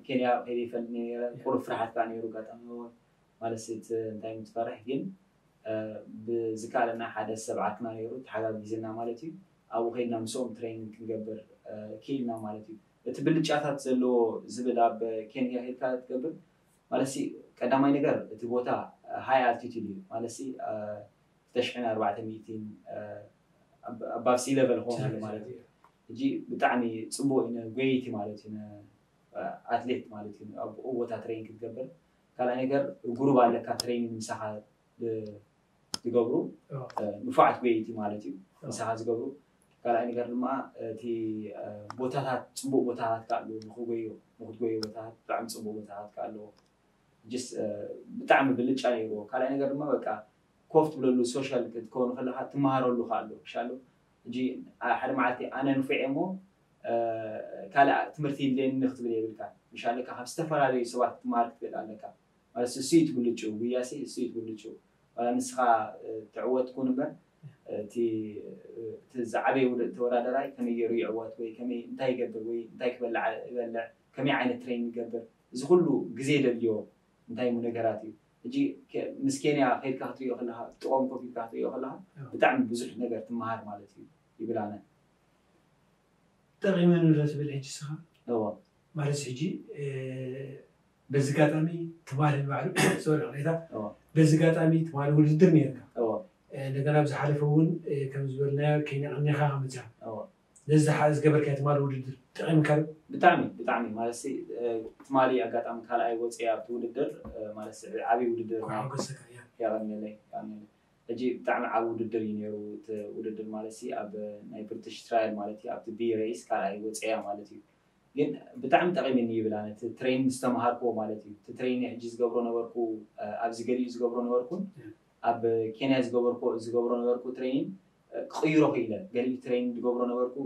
ኬንያ ከይደ ይፈልጥ ነረ ቁሩብ ፍርሓት ከዓ ነይሩ ኣጋጣሚ ማለት ሲ እቲ እንታይ ምትፈርሕ ግን ብዝከኣለና ሓደ ሰብ ዓርክና ነይሩ ተሓጋጊዝና ማለት እዩ። ኣብኡ ከይድና ምስኦም ትሬኒንግ ክንገብር ክኢልና ማለት እዩ። እቲ ብልጫታት ዘለዎ ዝብል ኣብ ኬንያ ከይድካ ትገብር ማለት ሲ ቀዳማይ ነገር እቲ ቦታ ሃይ ኣልቲቱድ እዩ ማለት ሲ ክልተ ሽሕን ኣርባዕተ ሚእትን ኣባብ ሲ ለቨል ክኾን ከሎ ማለት እዩ። ሕጂ ብጣዕሚ ፅቡቅ እዩ ጎየይቲ ማለት እዩ። ኣትሌት ማለት እዩ ኣብኡ ቦታ ትሬን ክትገብር ካልኣይ ነገር ግሩብ ኣለካ ትሬኒንግ ምሳኻ ዝገብሩ ንፉዓት ጎየይቲ ማለት እዩ ምሳኻ ዝገብሩ ካልኣይ ነገር ድማ እቲ ቦታታት ፅቡቅ ቦታታት ከ ኣለዎ ንክጎዮ ንክትጎዮ ቦታታት ብጣዕሚ ፅቡቅ ቦታታት ከ ኣለዎ ጅስ ብጣዕሚ ብልጫ ነይርዎ ካልኣይ ነገር ድማ በቃ ኮፍ ትብለሉ ሶሻል ክትከውን ከለካ ትመሃረሉ ከ ኣሎ ሻሎ ሕጂ ሓደ መዓልቲ ኣነ ንፉዕ እሞ ካልእ ትምህርቲ ይድልየኒ ክትብል የብልካ ምሻለካ ካብ ዝተፈላለዩ ሰባት ትመሃር ክትብል ኣለካ ማለት እሱ እዩ ትብልጭው ጉያሲ እሱ እዩ ትብልጭው ዋላ ንስኻ ትዕወት ኩን እምበር እቲ እቲ ዝዓበየ ውድ- ተወዳደራይ ከመይ ገይሩ ይዕወት ወይ ከመይ እንታይ ይገብር ወይ እንታይ ክበልዕ ይበልዕ ከመይ ዓይነት ትሬን ይገብር እዚ ኩሉ ግዜ የደልዮ እንታይ ሙ ነገራት እዩ። ሕጂ ከ- ምስ ኬንያ ከይድካ ክትሪኦ ከለካ ጥቆም ኮፍ ኢልካ ክትሪኦ ከለካ አዎ። ብጣዕሚ ብዙሕ ነገር ትመሃር ማለት እዩ ይብል ኣነ። ጠቂመኒ ዶ ትብል ሕጂ ስኻ እዎ ማለት ሕጂ በዚ ኣጋጣሚ ትማሊ ንባዕሉ ሶሪ ቅሬታ እዎ በዚ ኣጋጣሚ ትማሊ ውድድር ነርካ እዎ እንደገና ብዝሓለፈ እውን ከም ዝበልናዮ ኬንያ ቀኒኻ ከመፅያ እዎ ነዚ ዝሓ- ዝገበርካዮ ትማሊ ውድድር ጠቂምካ ዶ? ብጣዕሚ ብጣዕሚ ማለት ሲ ትማሊ ኣጋጣሚ ካልኣይ ወፅየ ኣብቲ ውድድር ማለት ሲ ዓብዪ ውድድር ኳ ሓጎሰካ እያ ያቀንለይ ያቀንለይ ሕጂ ብጣዕሚ ዓብ ውድድር እዩ ነይሩ እቲ ውድድር ማለት ሲ ኣብ ናይ ብሪቲሽ ትራያል ማለት እዩ ኣብቲ ቢ ሬስ ካልኣይ ወፅያ ማለት እዩ ግን ብጣዕሚ ጠቂምኒ ይብል ኣነ እቲ ትሬን ዝተምሃርክዎ ማለት እዩ እቲ ትሬን ሕጂ ዝገብሮ ነበርኩ ኣብዚ ገሊኡ ዝገብሮ ነበርኩን ኣብ ኬንያ ዝገበርኩ ዝገብሮ ነበርኩ ትሬኒን ክቕይሮ ክኢለ ገሊኡ ትሬኒን ዝገብሮ ነበርኩ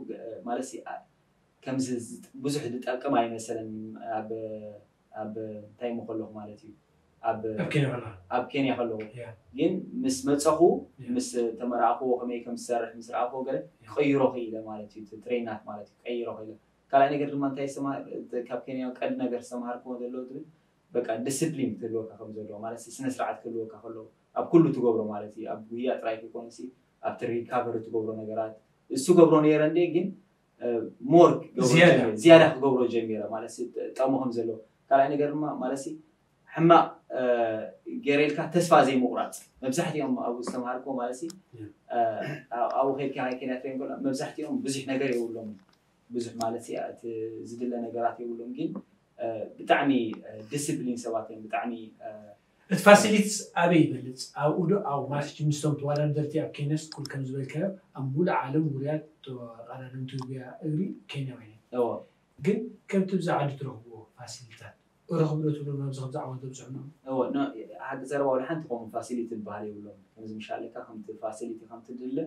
ማለት ሲ ከምዚ ብዙሕ ዝጠቅም ኣይመሰለን ኣብ ኣብ እንታይ ሞ ከለኹ ማለት እዩ ኣብ ኣብ ኬንያ ከለኻ ኣብ ኬንያ ከለኹ ያ ግን ምስ መፀኹ ያ። ምስ ተመራእኽዎ ከመይ ከም ዝሰርሕ ምስ ረኣኽዎ ገለ ክቕይሮ ክኢለ ማለት እዩ እቲ ትሬናት ማለት እዩ ክቐይሮ ክኢለ ካልኣይ ነገር ድማ እንታይ ዝተምሃር ካብ ኬንያ ቀንዲ ነገር ዝተምሃርክዎ ዘለዎ ትብል በቃ ዲስፕሊን ክህልወካ ከም ዘለዎ ማለት ስነ ስርዓት ክህልወካ ከለዎ ኣብ ኩሉ ትገብሮ ማለት እዩ ኣብ ጉያ ጥራይ ከይኮነ ኣብቲ ሪካቨሪ ትገብሮ ነገራት እሱ ገብሮ ነይረ እንደ ግን ሞር ዝያዳ። ዝያዳ ክገብሮ ጀሚረ ማለት ጠሙ ከም ዘለዎ ካልኣይ ነገር ድማ ማለት ሕማቕ ገይረ ኢልካ ተስፋ ዘይምቑራፅ መብዛሕትኦም ኣብኡ ዝተምሃርኮ ማለት ኣብኡ ከይድካ ናይ ኬንያ ትሬን ከሎ መብዛሕትኦም ብዙሕ ነገር የብሎም ብዙሕ ማለት እቲ ዝድለ ነገራት የብሎም ግን ብጣዕሚ ዲስፕሊን ሰባት እዮም ብጣዕሚ እቲ ፋሲሊቲስ ኣበይ ይበልፅ ኣብኡ ዶ ኣብ ማለት ምስቶም ተወዳደርቲ ኣብ ኬንያስ ኩል ከም ዝበልካዮ ኣብ ሙሉእ ዓለም ውርያት ተቐዳደምቲ ጉያ እግሪ ኬንያውያን እዮም እዎ ግን ከምቲ ብዛ ዓዲ ትረኽብዎ ፋሲሊታት ረኽቡ ዶ ትብሎ ናብዚ ከምዚ ዓወት ዘብፅሑና እዎ ሓቂ ዘረባ ወላ ሓንቲ ከምኡ ፋሲሊቲ ዝበሃል የብሎም ከምዚ ምሻለካ ከምቲ ፋሲሊቲ ከምቲ ድለ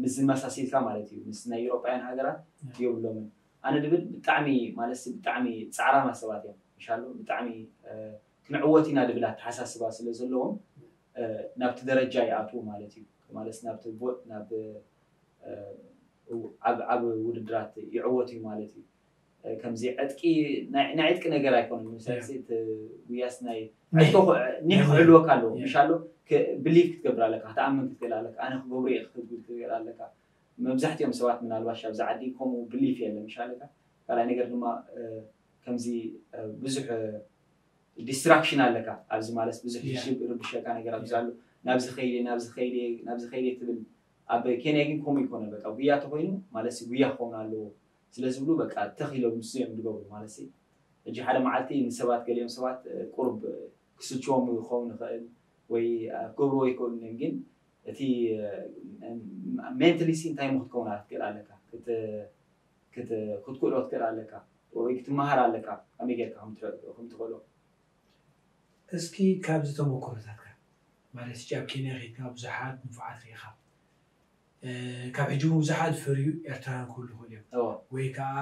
ምስ ዝመሳሲልካ ማለት እዩ ምስ ናይ ኤሮጳውያን ሃገራት የብሎምን ኣነ ድብል ብጣዕሚ ማለት ብጣዕሚ ፃዕራማ ሰባት እዮም ምሻሉ ብጣዕሚ ክንዕወት ኢና ድብል ኣተሓሳስባ ስለ ዘለዎም ናብቲ ደረጃ ይኣትዉ ማለት እዩ ማለት ናብቲ ናብ ዓብ ውድድራት ይዕወት እዩ ማለት እዩ ከምዚ ዕጥቂ ናይ ዕጥቂ ነገር ኣይኮነን ምሳሌ እቲ ጉያስ ናይ ኒሕ ክዕልወካ ኣለዎ ምሻሎ ብሊፍ ክትገብር ኣለካ ክትኣምን ክትክእል ኣለካ ኣነ ክገብሩ እየ ክትብል ክትክእል ኣለካ መብዛሕትኦም ሰባት ምናልባሽ ኣብዚ ዓዲ ከምኡ ብሊፍ የለ ምሻለካ ካልኣይ ነገር ድማ ከምዚ ብዙሕ ዲስትራክሽን ኣለካ ኣብዚ ማለት ብዙሕ ርብሸካ ነገር ኣብዚ ኣሎ ናብዚ ከይደ ናብዚ ከይደ ናብዚ ከይደ ትብል ኣብ ኬንያ ግን ከምኡ ይኮነ በቃ ጉያ ተኮይኑ ማለት ጉያ ክኸውን ኣለዎ ስለ ዝብሉ በቃ ተኽ ኢሎም ንሱ እዮም ዝገብሩ ማለት ሕጂ ሓደ መዓልቲ ንሰባት ገሊኦም ሰባት ቁሩብ ክስልችዎም ክኸውን ይኽእል ወይ ክገብርዎ ይኽእሉ እዮም ግን እቲ ሜንትሊ ሲ እንታይ ሞ ክትከውን ክትክእል ኣለካ ክትክእሎ ክትክእል ኣለካ ወይ ክትመሃር ኣለካ ከመይ ጌርካ ከም ትኽእሎ እስኪ ካብዚ ተመክሮታትካ ማለት ሕጂ ኣብ ኬንያ ከይድካ ብዙሓት ንፉዓት ርኢኻ ካብ ሕጂ እውን ብዙሓት ዝፈርዩ ኤርትራውያን ክህሉ ይኽእሉ እዮም ወይ ከዓ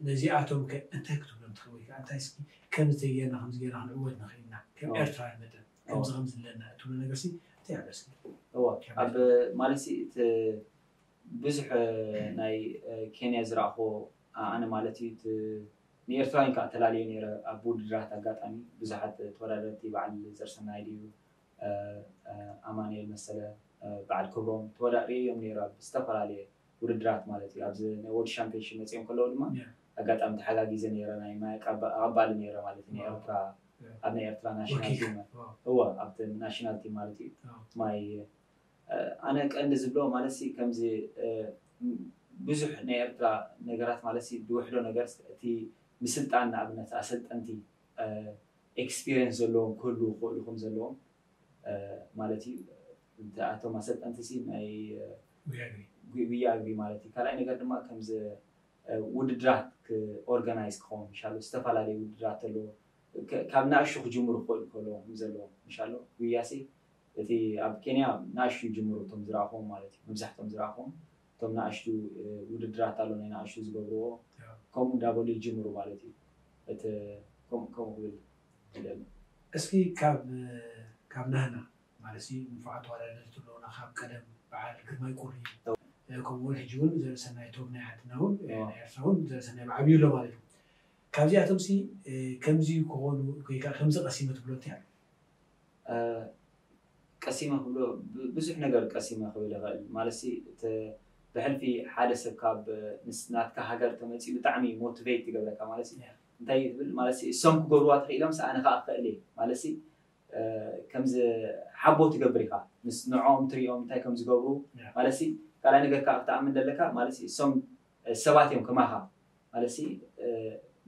ነዚኣቶም ከ እንታይ ክትብሎም ትኽእል ወይ ከዓ እንታይ እስኪ ከምዚ ተጌርና ከምዚ ጌርና ክንዕወት ንኽእልና ከም ኤርትራውያን መጠን ከምዚ ከምዚ ኣለና እትብሎ ነገር ሲ እንታይ ኣሎ እስኪ እዎ ኣብ ማለት እቲ ብዙሕ ናይ ኬንያ ዝረእኹ ኣነ ማለት እዩ ንኤርትራውያን ከዓ ተላለየ ነረ ኣብ ውድድራት ኣጋጣሚ ብዙሓት ተወዳደርቲ በዓል ዘርሰናይ ድዩ ኣማንኤል መሰለ በዓል ክብሮም ተወዳድሪ እዮም ነረ ኣብ ዝተፈላለየ ውድድራት ማለት እዩ ኣብዚ ናይ ወርልድ ሻምፒዮንሽፕ መፅኦም ከለዉ ድማ ኣጋጣሚ ተሓጋጊዘ ነረ ናይ ማይ ኣቐባሊ ነረ ማለት ናይ ኤርትራ ኣብ ናይ ኤርትራ ናሽናል ቲም እዎ ኣብቲ ናሽናል ቲም ማለት እዩ ማይ ኣነ ቀንዲ ዝብሎ ማለት ከምዚ ብዙሕ ናይ ኤርትራ ነገራት ማለት ዝውሕዶ ነገር እቲ ምስልጣን ንኣብነት ኣሰልጠንቲ ኤክስፒሪየንስ ዘለዎም ክህሉ ክኽእሉ ከም ዘለዎም ማለት እዩ እቶም ኣሰልጠንቲ ናይ ጉያ እግሪ ማለት እዩ ካልኣይ ነገር ድማ ከምዚ ውድድራት ኦርጋናይዝ ክኸውን ይሻሉ ዝተፈላለዩ ውድድራት ኣለዎ ካብ ንኣሽቱ ክጅምሩ ክኽእሉ ከለዎ ከም ዘለዎ ይሻሉ ጉያሲ እቲ ኣብ ኬንያ ንኣሽቱ ይጅምሩ እቶም ዝረእኹም ማለት እዩ መብዛሕቶም ዝረእኹም እቶም ንኣሽቱ ውድድራት ኣሎ ናይ ንኣሽቱ ዝገብርዎ ከምኡ እንዳበሉ ይጅምሩ ማለት እዩ እቲ ከምኡ ክብል ይደሊ እስኪ ካብ ካብ ናህና ማለት ሲ ንፉዓት ተወዳደርቲ ኣለውና ካብ ቀደም በዓል ግርማይ ቁሪ ከምኡ እውን ሕጂ እውን ዘርእሰናይ ቶብ ናይ ሓድና እውን ናይ ኤርትራ እውን ዘርእሰናይ ብዓብዩ ኣሎ ማለት እዩ። ካብዚኣቶም ሲ ከምዚ ክኾኑ ወይ ከዓ ከምዚ ቀሲመ ትብሎ እንታይ ኣሎ? ቀሲመ ክብሎ ብዙሕ ነገር ቀሲመ ክብል ይኽእል ማለት ሲ ብሕልፊ ሓደ ሰብ ካብ ናትካ ሃገር ተመፂኡ ብጣዕሚ ሞቲቬት ትገብረካ ማለት ሲ እንታይ ትብል ማለት ሲ እሶም ክገብርዋ ተኽኢሎም ሲ ኣነ ከዓ ክኽእል እየ ማለት ሲ ከምዚ ሓቦ ትገብር ኢኻ ምስ ንዕኦም ትሪኦም እንታይ ከም ዝገብሩ ማለት ሲ ካልኣይ ነገር ከዓ ክትኣምን ዘለካ ማለት ሲ እሶም ሰባት እዮም ከማኻ ማለት ሲ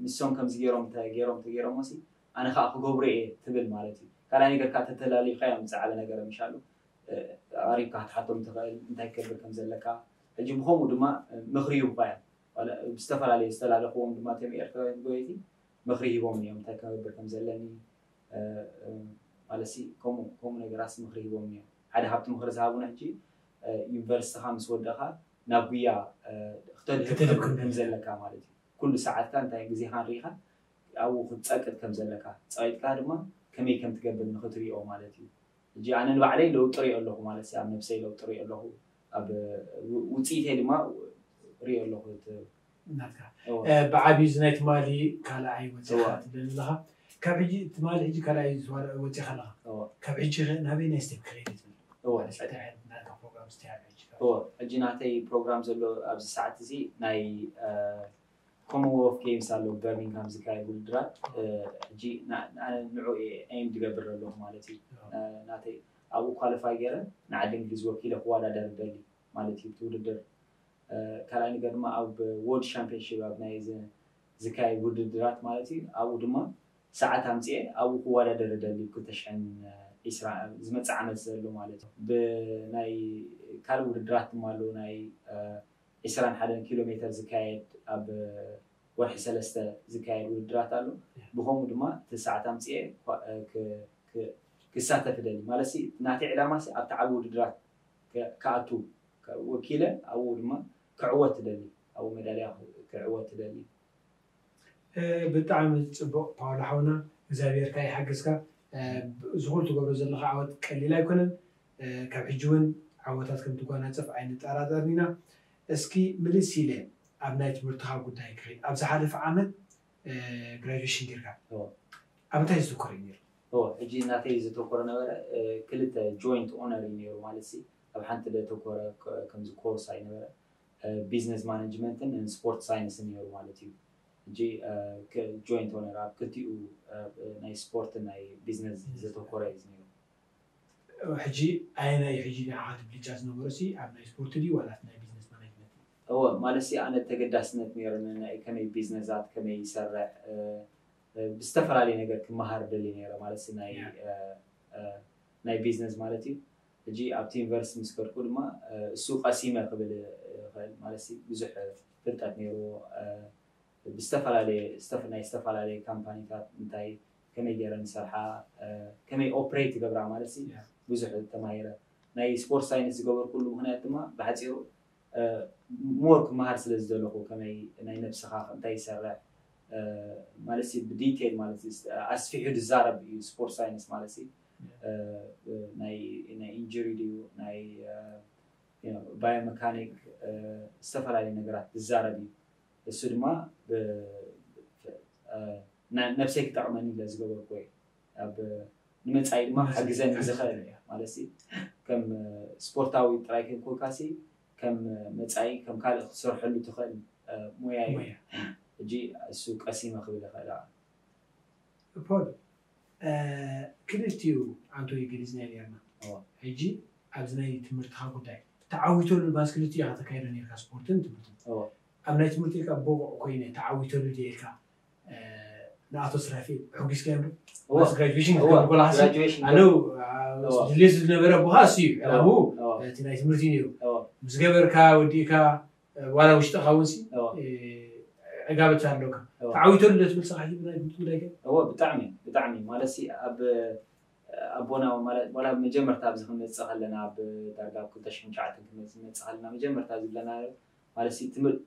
ንሶም ከምዚ ገይሮም ገይሮም ተገይሮሞ ሲ ኣነ ከዓ ክገብሩ እየ ትብል ማለት እዩ ካልኣይ ነገር ከዓ ተተላሊኻዮም ዝዓበ ነገር ምሻሉ ኣሪብካ ክትሓቶም ትኽእል እንታይ ክገብር ከም ዘለካ ሕጂ ብከምኡ ድማ ምኽሪ ይህቡኻ እዮም ብዝተፈላለዩ ዝተላለኽዎም ድማ ቶም ኤርትራውያን ጎየቲ ምኽሪ ሂቦም እዮም እንታይ ክገብር ከም ዘለኒ ማለት ሲ ከምኡ ከምኡ ነገራት ምኽሪ ሂቦም እዮም ሓደ ካብቲ ምኽሪ ዝሃቡና ሕጂ ዩኒቨርሲቲኻ ምስ ወደኻ ናብ ጉያ ክተድህብ ከም ዘለካ ማለት እዩ ኩሉ ሰዓትካ እንታይ ግዜኻን ርኢኻ ኣብኡ ክትፀቅጥ ከም ዘለካ ፀቂጥካ ድማ ከመይ ከም ትገብር ንክትሪኦ ማለት እዩ ሕጂ ኣነ ንባዕለይ ለውጢ ሪኦ ኣለኹ ማለት ኣብ ነብሰይ ለውጢ ሪኦ ኣለኹ ኣብ ውፅኢተይ ድማ ሪኦ ኣለኹ ናትካ ብዓብዩ እዚ ናይ ትማሊ ካልኣይ ወፂኻ ትብለኒ ኣለኻ ካብ ሕጂ ትማሊ ሕጂ ካልኣይ ወፂኻ ኣለኻ ካብ ሕጂ ናበይ ናይ ስቴፕ ክኸይድ ትብል ሕጂ ናተይ ፕሮግራም ዘሎ ኣብዚ ሰዓት እዚ ናይ ኮመንወልፍ ጌምስ ኣሎ በርሚንግሃም ዝካየድ ውድድራት ሕጂ ንዑ ኤም ዝገብር ኣለኹ ማለት እዩ ናተይ ኣብኡ ኳሊፋይ ገይረ ንዓዲ እንግሊዝ ወኪለ ክወዳደር ደሊ ማለት እዩ ውድድር ካልኣይ ነገር ድማ ኣብ ወርልድ ሻምፒዮንሽፕ ኣብ ናይ ዝካየድ ውድድራት ማለት እዩ ኣብኡ ድማ ሰዓት ኣምፅኤ ኣብኡ ክወዳደር ደሊ ክልተ ሽሕን ዒስራ ዝመፅእ ዓመት ዘሎ ማለት እዩ ብናይ ካልእ ውድድራት ድማ ኣለዉ ናይ ዒስራን ሓደን ኪሎ ሜተር ዝካየድ ኣብ ወርሒ ሰለስተ ዝካየድ ውድድራት ኣሎ ብከምኡ ድማ እቲ ሰዓት ኣምፅኤ ክሳተፍ ደሊ ማለት ናተይ ዕላማ ኣብቲ ዓቢ ውድድራት ክኣቱ ወኪለ ኣብኡ ድማ ክዕወት ትደሊ ኣብኡ ሜዳልያ ክዕወት ትደሊ ብጣዕሚ ፅቡቅ ፓውሎ ሓውና እግዚኣብሔር ካ ይሓግዝካ ዝኩሉ ትገብሮ ዘለካ ዓወት ቀሊል ኣይኮነን ካብ ሕጂ እውን ዓወታት ከም ትጓናፀፍ ኣይንጠራጠርን ኢና እስኪ ምልስ ኢለ ኣብ ናይ ትምህርትካ ጉዳይ ክኸይድ ኣብ ዝሓለፈ ዓመት ግራጁዌሽን ጌርካ ኣብ እንታይ ዝተኮረ እዩ ነይሩ ሕጂ እናተይ ዝተኮረ ነበረ ክልተ ጆይንት ኦነር እዩ ነይሩ ማለት ሲ ኣብ ሓንቲ ዘተኮረ ከምዚ ኮርስ ኣይነበረ ቢዝነስ ማኔጅመንትን ስፖርት ሳይንስን ነይሩ ማለት እዩ ሕጂ ጆይንት ኦነር ኣብ ክልቲኡ ናይ ስፖርት ናይ ቢዝነስ ዘተኮረ እዩ ነይሩ ሕጂ ኣየናይ ሕጂ ንዓኻ ትብልጫ ዝነበሮ ሲ ኣብ ናይ ስፖርት ድዩ ዋላ ናይ ቢዝነስ ማኔጅመንት እወ ማለት ሲ ኣነ ተገዳስነት ነይሩኒ ናይ ከመይ ቢዝነሳት ከመይ ይሰርሕ ብዝተፈላለየ ነገር ክመሃር ደሊ ነይረ ማለት ሲ ናይ ናይ ቢዝነስ ማለት እዩ ሕጂ ኣብቲ ዩኒቨርሲቲ ምስ ከድኩ ድማ እሱ ቀሲመ ክብል ይኽእል ማለት ብዙሕ ፍልጠት ነይርዎ ብዝተፈላለየ ናይ ዝተፈላለየ ካምፓኒታት እንታይ ከመይ ገይረን ዝሰርሓ ከመይ ኦፕሬት ይገብራ ማለት ብዙሕ ተማሂረ ናይ ስፖርት ሳይንስ ዝገበርኩሉ ምክንያት ድማ ብሓፂሩ ሞር ክመሃር ስለ ዝደለኹ ከመይ ናይ ነብስኻ እንታይ ይሰርሕ ማለት ብዲቴል ማለት ኣስፊሑ ዝዛረብ እዩ ስፖርት ሳይንስ ማለት ናይ ኢንጁሪ ድዩ ናይ ባዮመካኒክ ዝተፈላለዩ ነገራት ዝዛረብ እዩ እሱ ድማ ነብሰይ ክጠቕመኒ ኢለ ዝገበርኩ እዩ ኣብ ንመፃኢ ድማ ሓግዘኒ ዝኽእል ማለት ከም ስፖርታዊ ጥራይ ከይኮንካሲ ከም መፃኢ ከም ካልእ ክትሰርሐሉ ትኽእል ሞያ እዩ ሕጂ እሱ ቀሲመ ክብል ይኽእል ፖል ክልቲኡ ኣንቶይ ገሊፅና ኔርና ሕጂ ኣብዚ ናይ ትምህርትኻ ጉዳይ ተዓዊተሉ ባስ ክልቲኡ ኢኻ ተካይዶ ኔርካ ስፖርትን ትምህርትን ኣብ ናይ ትምህርቲ ኢልካ ብቑዕ ኮይነ ተዓዊተሉ ድየ ኢልካ ንኣቶ ስራፊ ሕጒስካዮም ዶ? Graduation ክትገብር ከለኻ ኣነው ድሌት ዝነበረ ኣቦኻ እሱ እዩ ዕላምኡ እቲ ናይ ትምህርቲ ነይሩ ምስ ገበርካ ወዲእካ ዋላ ውሽጥኻ እውን ሲ ዕጋበት ኣለካ ተዓዊተሉ ዶ ትብል ሰኻ ናይ ትምህርቲ ጉዳይ ከ? እወ ብጣዕሚ ብጣዕሚ ማለት ሲ ኣብ ኣቦና ማለት ዋላ መጀመርታ ኣብዚ ክንመፅእ ከለና ኣብ ዳርጋ ኣብ ክልተ ሽሕን ትሽዓተን ክንመፅእ ከለና መጀመርታ ዝብለና ማለት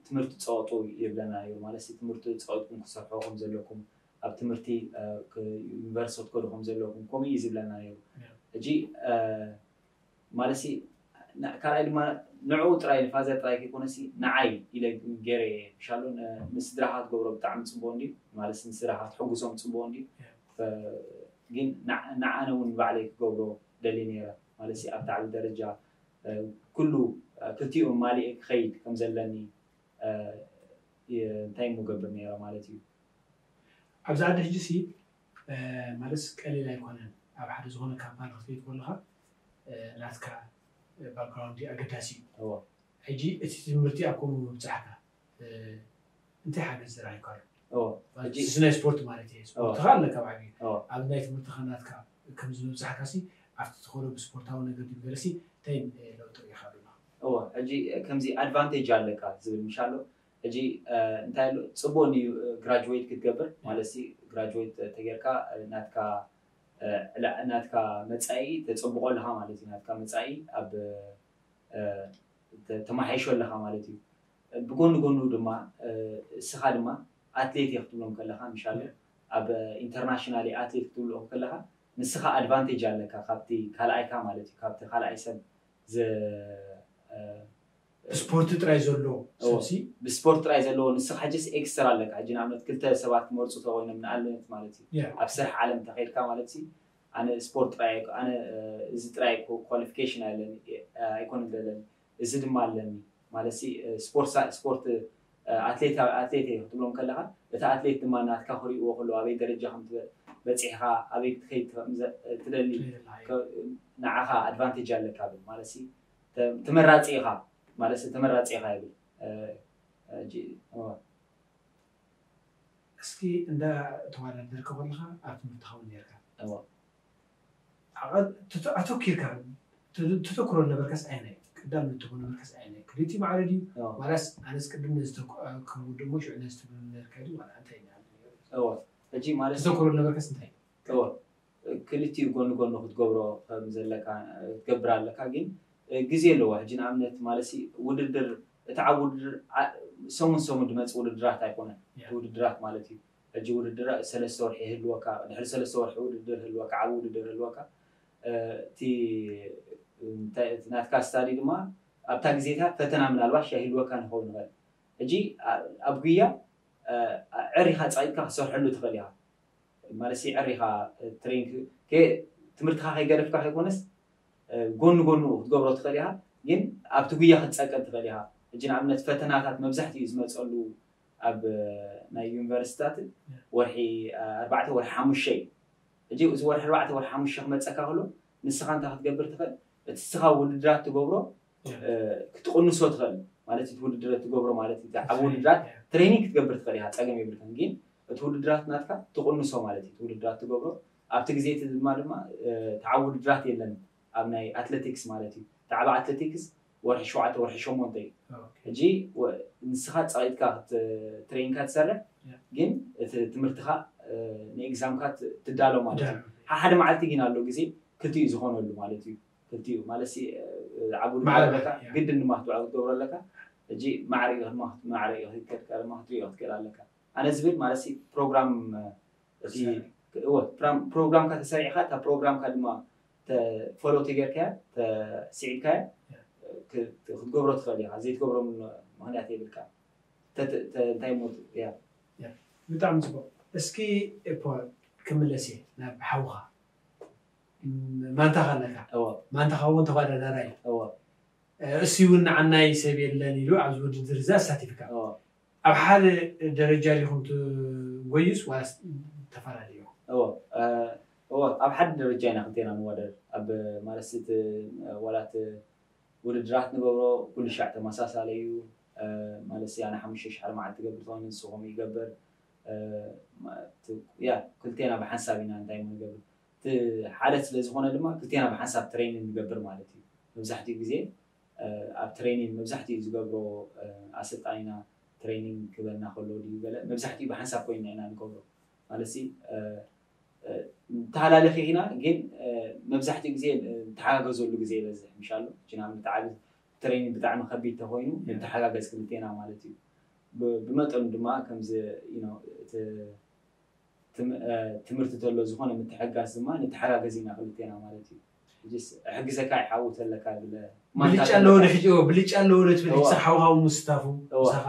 ትምህርቲ ፀወጡ ይብለና ነይሩ ማለት ትምህርቲ ፀወጥኩም ክሰርሑ ከም ዘለኩም ኣብ ትምህርቲ ዩኒቨርሲቲ ክትከዱ ከም ዘለኩም ከምኡ እዩ ዝብለና ነይሩ ሕጂ ማለት ካልኣይ ድማ ንዕኡ ጥራይ ንፋዘር ጥራይ ከይኮነሲ ንዓይ ኢለ ገይረ እየ። ምሻሎ ንስድራኻ ትገብሮ ብጣዕሚ ፅቡቅ እንድዩ ማለት ንስድራኻ ትሕጉሶም ፅቡቅ እንድዩ። ግን ንዓነ እውን ባዕለይ ክገብሮ ደሊ ነይረ ማለት ኣብቲ ዓብዪ ደረጃ ኩሉ ክልቲኡ ማሊእ ክኸይድ ከም ዘለኒ እንታይ ምገብር ነይረ ማለት እዩ። ኣብዚ ዓዲ ሕጂ ሲ ማለት ቀሊል ኣይኮነን። ኣብ ሓደ ዝኾነ ካምፓኒ ክትከይድ ከለኻ ናትካ ባክግራውንድ ኣገዳሲ እዩ። ሕጂ እቲ ትምህርቲ ኣብ ከምኡ ምብፃሕካ እንታይ ሓገዝ ዝረኣይካሉ? ናይ ስፖርት ማለት እዩ። ስፖርትኻ ኣለካ ኣብ ዓብዩ ኣብ ናይ ትምህርትኻ ናትካ ከምዚ ምብፃሕካ ሲ ኣብቲ ትኸዶ ብስፖርታዊ ነገር ድዩ ገለሲ እንታይ ለውጢ ርኢኻ ኣለኻ? እወ ሕጂ ከምዚ ኣድቫንቴጅ ኣለካ ዝብል ምሻሎ ሕጂ እንታይ ኣሎ ፅቡቅ እዩ ግራጅዌት ክትገብር ማለት ሲ ግራጅዌት ተጌርካ ናትካ ናትካ መፃኢ ተፅብቆ ኣለካ ማለት እዩ ናትካ መፃኢ ኣብ ተማሓይሾ ኣለካ ማለት እዩ ብጎኒ ጎኑ ድማ እስኻ ድማ ኣትሌት እየ ክትብሎም ከለካ ምሻለ ኣብ ኢንተርናሽናል ኣትሌት ክትብልኦም ከለካ ንስኻ ኣድቫንቴጅ ኣለካ ካብቲ ካልኣይካ ማለት እዩ ካብቲ ካልኣይ ሰብ ብስፖርት ጥራይ ዘሎ ሰብሲ ብስፖርት ጥራይ ዘለዎ ንስኻ ሕጅስ ኤክስትራ ኣለካ ሕጂ ንኣብነት ክልተ ሰባት ክመርፁ ተኮይኖም ንኣብነት ማለት እዩ ኣብ ስራሕ ዓለም ተኸይድካ ማለት ሲ ኣነ ስፖርት ጥራይ ኣነ እዚ ጥራይ ኳሊፊኬሽን ኣለኒ ኣይኮነ ዘለኒ እዚ ድማ ኣለኒ ማለት ሲ ስፖርት ስፖርት ኣትሌት ኣትሌት እየ ክትብሎም ከለካ እቲ ኣትሌት ድማ ናትካ ክሪእዎ ከሎ ኣበይ ደረጃ ከም በፂሕካ ኣበይ ክትከይድ ትደሊ ንዓኻ ኣድቫንቴጅ ኣለካ ብል ማለት ሲ ተመራፂ ኢኻ ማለት ተመራፂ ኢኻ ይብል እስኪ እንዳ ተዋዳደርካ ከለካ ኣብ ትምህርቲ ኸውን ነርካ ኣተኪርካ ተተክሮ ነበርከስ ኣይናይ ቀዳም ንትኮ ነበርከስ ኣይናይ ክልቲ ማዕረ ድዩ ዋላስ ኣነስ ቅድም ነዚ ክውድሞ ሽዑ ነዚ ትብል ነርካ ድዩ ዋላ እንታይ ሕጂ ማለት ተተክሮ ነበርከስ እንታይ ክልቲኡ ጎኒ ጎኒ ክትገብሮ ከም ዘለካ ክትገብር ኣለካ ግን ግዜ ኣለዎ ሕጂ ንኣብነት ማለት ውድድር እቲ ዓብ ውድድር ሰሙን ሰሙን ድመፅ ውድድራት ኣይኮነን ውድድራት ማለት እዩ ሕጂ ውድድር ሰለስተ ወርሒ ይህልወካ ድሕሪ ሰለስተ ወርሒ ውድድር ህልወካ ዓብ ውድድር ህልወካ እቲ ናትካ ስታዲ ድማ ኣብታ ግዜታት ፈተና ምናልባሽ ይህልወካ ንኸውን ይኽእል ሕጂ ኣብ ጉያ ዕሪኻ ፀቂጥካ ክሰርሐሉ ትኽእል ኢኻ ማለት ዕሪኻ ትሬን ትምህርትኻ ከይገደፍካ ከይኮነስ ጎኒ ጎኑ ክትገብሮ ትኽእል ኢኻ ግን ኣብቲ ጉያ ክትፀቀጥ ትኽእል ኢኻ ሕጂ ንኣብነት ፈተናታት መብዛሕትኡ ዝመፀሉ ኣብ ናይ ዩኒቨርሲቲታት ወርሒ ኣርባዕተ ወርሒ ሓሙሽተ እዩ ሕጂ እዚ ወርሒ ኣርባዕተ ወርሒ ሓሙሽተ ክመፀካ ከሎ ንስኻ እንታይ ክትገብር ትኽእል እቲ ስኻ ውድድራት ትገብሮ ክትቕንሶ ትኽእል ማለት እቲ ውድድር ትገብሮ ማለት እቲ ዓብ ውድድራት ትሬኒንግ ክትገብር ትኽእል ኢኻ ፀገም የብልክን ግን እቲ ውድድራት ናትካ ትቕንሶ ማለት እዩ ውድድራት ትገብሮ ኣብቲ ግዜ እቲ ድማ ድማ ተዓብ ውድድራት የለን ኣብ ናይ ኣትሌቲክስ ማለት እዩ ተዓብ ኣትሌቲክስ ወርሒ ሸውዓተ ወርሒ ሸሞንተ እዩ ሕጂ ንስኻ ፀቂጥካ ትሬኒንካ ትሰርሕ ግን እቲ ትምህርትኻ ንኤግዛምካ ትዳሎ ማለት እዩ ሓደ መዓልቲ ግን ኣሎ ግዜ ክልቲኡ ዝኾነሉ ማለት እዩ ክልቲኡ ማለት ዓብ ውድድር ኣለካ ግድን ድማ ክትውዕል ክትገብሮ ኣለካ ሕጂ ማዕረ ማዕረ ክትሪኦ ክትክእል ኣለካ ኣነ ዝብል ማለት ፕሮግራም ፕሮግራምካ ተሰሪዕካ እታ ፕሮግራምካ ድማ ፎሎ ተጌርካያ ተስዒብካያ ክትገብሮ ትኽእል ኢኻ ዘይትገብሮ ምክንያት የብልካ እንታይ ሞት ያ ብጣዕሚ ፅቡቅ እስኪ ፖል ክምለስ እየ ናብ ሓውኻ ማንታኻ ኣለካ ማንታኻ እውን ተወዳዳራይ እሱ እውን ንዓናይ ሰብ የለን ኢሉ ኣብዚ ውድድር እዚ ኣሳቲፍካ ኣብ ሓደ ደረጃ ዲኹም ትጎዩስ ዋላስ ተፈላለዩ እዎ ኣብ ሓደ ደረጃ ኢና ክልቴና ንወዳደር ኣብ ማለት ዋላት ውድድራት ንገብሮ ኩሉ ሻዕ ተመሳሳለ እዩ ማለት ኣነ ሓሙሽተ ሺሕ ሓደ መዓልቲ ገብር ተኾይኑ ንስኹም ይገብር ያ ክልቴና ብሓንሳብ ኢና እንታይ ንገብር እቲ ሓደ ስለ ዝኾነ ድማ ክልቴና ብሓንሳብ ትሬኒንግ ንገብር ማለት እዩ መብዛሕትኡ ግዜ ኣብ ትሬኒንግ መብዛሕትኡ ዝገብሮ ኣሰልጣኒና ትሬኒንግ ክበና ከሎ ድዩ ገለ መብዛሕትኡ ብሓንሳብ ኮይና ኢና ንገብሮ ማለት ተሃላለኺ ኢና ግን መብዛሕትኡ ግዜ ተሓጋገዘሉ ግዜ ይበዝሕ ምሻሉ እቲ ንኣብነት ዓብ ትሬኒንግ ብጣዕሚ ከቢድ ተኮይኑ ንተሓጋገዝ ክልቴና ማለት እዩ ብመጠኑ ድማ ከምዚ ትምህርቲ ተሎ ዝኾነ ምትሕጋዝ ድማ ንተሓጋገዝ ኢና ክልቴና ማለት እዩ ሕጅስ እሕግዘካ ይሓውት ኣለካ ብለ ብልጫ ኣለዎ ዶ ሕጂ እዎ ብልጫ ኣለዎ ዶ ትብል ሕጂ ሓውሃው ምስታፉ ምሳኻ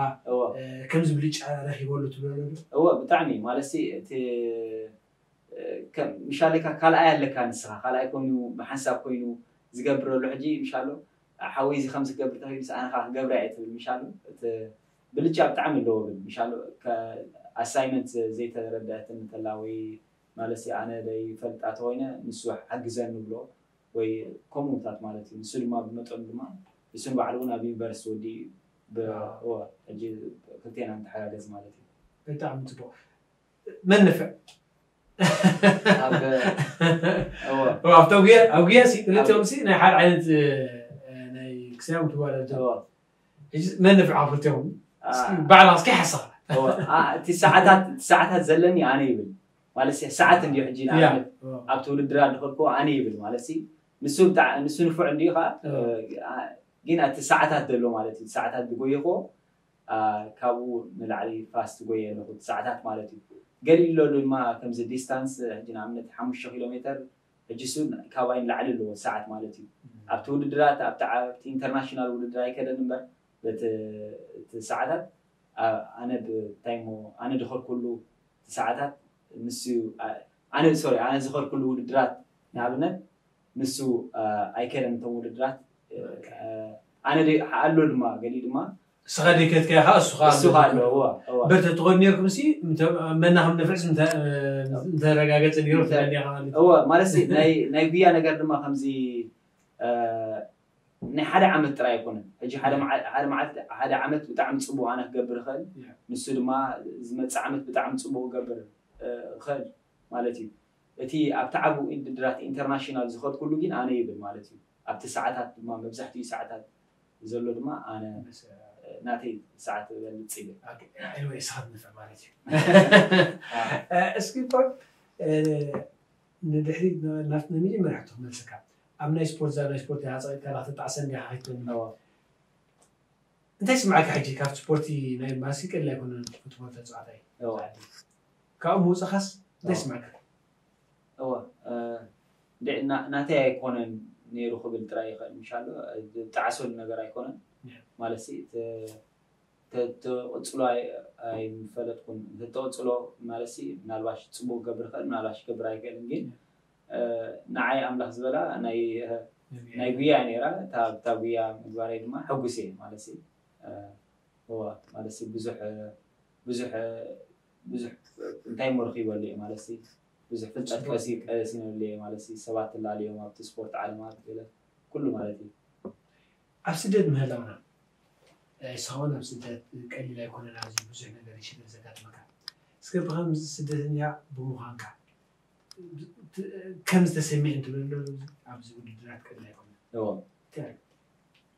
ከምዚ ብልጫ ረኺበሉ ትብለሉ ዶ እወ ብጣዕሚ ማለት ሲ እቲ ምሻለካ ካልኣይ ኣለካ ንስኻ ካልኣይ ኮይኑ ብሓንሳብ ኮይኑ ዝገብረሉ ሕጂ ምሻሎ ሓወይ እዚ ከምዚ ክገብር ተኺሉ ኣነ ከዓ ክገብራ እየ ትብል ምሻሎ እቲ ብልጫ ብጣዕሚ ኣለዎ ብል ምሻሎ ኣሳይመንት ዘይተረዳእትን እንተላ ወይ ማለት ኣነ ዘይፈልጣ ተኮይነ ንሱ ሓግዘኒ ብሎ ወይ ከምኡታት ማለት እዩ ንሱ ድማ ብመጠኑ ድማ ንሱ ንባዕሉ እውን ኣብ ዩኒቨርሲቲ ወዲ ሕጂ ክልቴና ንተሓጋገዝ ማለት እዩ ብጣዕሚ ፅቡቅ መንፍዕ ኣብቶም ጉያ ኣብ ጉያ ሲ ክልቲኦም ሲ ናይ ሓደ ዓይነት ናይ ክሳዮም ትባለ ሕጂ መን ንፍዕ ክልቲኦም ባዕላ እስኪ ሓሳብ እቲ ሰዓታት እቲ ሰዓታት ዘለኒ ኣነ ይብል ማለት ሰዓት እንዲዩ ሕጂ ንኣብነት ኣብቲ ውድድር ኣድኸልኩ ኣነ ይብል ማለት ንሱ ንፉዕ እንዲዩ ከዓ ግን እቲ ሰዓታት ዘሎ ማለት እዩ ሰዓታት ዝጎየኮ ካብኡ ንላዕሊ ፋስት ጎየ ኣለኹ ሰዓታት ማለት እዩ ገሊኡ ኣሎ ድማ ከምዚ ዲስታንስ ሕጂ ንኣብነት ሓሙሽተ ኪሎ ሜተር ሕጂ እሱ ካባይ ንላዕሊ ኣለዎ ሰዓት ማለት እዩ ኣብቲ ውድድራት ኣብቲ ዓብቲ ኢንተርናሽናል ውድድር ኣይከደን እምበር በቲ ሰዓታት ኣነ ብታይ ኣነ ድኸልኩሉ ሰዓታት ንሱ ኣነ ሶሪ ኣነ ዝኸልኩሉ ውድድራት ንኣብነት ንሱ ኣይከደን እቶም ውድድራት ኣነ ኣሎ ድማ ገሊኡ ድማ እስኻ ደይከትካ ኢኻ እሱኻ እሱኻ ኣሎ እዋ እዋ በር ተትኾን ነርኩም ሲ መና ከም ነፍዕስ ምተረጋገጸ ነይሩ ትለኒ ኢኻ ማለት እዩ። እዋ ማለት ሲ ናይ ናይ ጉያ ነገር ድማ ከምዚ እ፣ ናይ ሓደ ዓመት ጥራይ ኣይኮነን ሕጂ ሓደ መዓ- ሓደ መዓልቲ ሓደ ዓመት ብጣዕሚ ፅቡቅ ኣነ ክገብር ይኽእል ንሱ ድማ ዝመፅእ ዓመት ብጣዕሚ ፅቡቅ ክገብር እ፣ ይኽእል ማለት እዩ እቲ ኣብቲ ዓቡ ውድድራት ኢንተርናሽናል ዝኸድኩሉ ግን ኣነ ይብል ማለት እዩ ኣብቲ ሰዓታት ድማ መብዛሕትኡ ሰዓታት ዘሎ ድማ ኣነ ናተይ ሰዓት በልፅ ይብል ኤኒወይ ስኻት ንፍዕ ማለት እዩ እስኪ ፖል ንድሕሪ ናብቲ ናይ መጀመርያ ሕቶ ክመልሰካ ኣብ ናይ ስፖርት ዛ ናይ ስፖርት ያፀ ከላ ተጣዕሰ እንዲያ ከይትበኒ እንታይ ስምዓካ ሕጂ ካብ ስፖርቲ ናይ ማሲ ቀሊል ኣይኮነን ክትቦል ተፅዋዕታይ ካብኡ ምውፅኻስ እንታይ ስምዓካ እወ ናተይ ኣይኮነን ነይሩ ክብል ጥራይ ይኽእል ምሻሎ ዝጣዕሰሉ ነገር ኣይኮነን ማለት ተተቕፅሎ ኣይምፈለጥኩን ተተቕፅሎ ማለት ምናልባሽ ፅቡቅ ገብር ይኽእል ምናልባሽ ገብር ኣይክእልን ግን ንዓይ ኣምላኽ ዝበላ ናይ ናይ ጉያ ነራ እታ ጉያ ምግባረይ ድማ ሕጉስ እየ ማለት ማለት ብዙሕ ብዙሕ ብዙሕ እንታይ እሞ ረኺበሉ እየ ማለት ብዙሕ ፍልጠት ቀሲነሉ እየ ማለት ሰባት ትላለዮም ኣብቲ ስፖርት ዓለማት ገለ ኩሉ ማለት እዩ ኣብ ስደት ምህላውና ንስኻውን ኣብ ስደት ቀሊል ኣይኮነን ኣብዚ ብዙሕ ነገር ይሽግር ዘጋጥመካ እስከ ብከምዚ ስደተኛ ብምዃንካ ከም ዝተሰሚዕ እንትብል ኣሎ ኣብዚ ውድድራት ቀሊል ኣይኮነን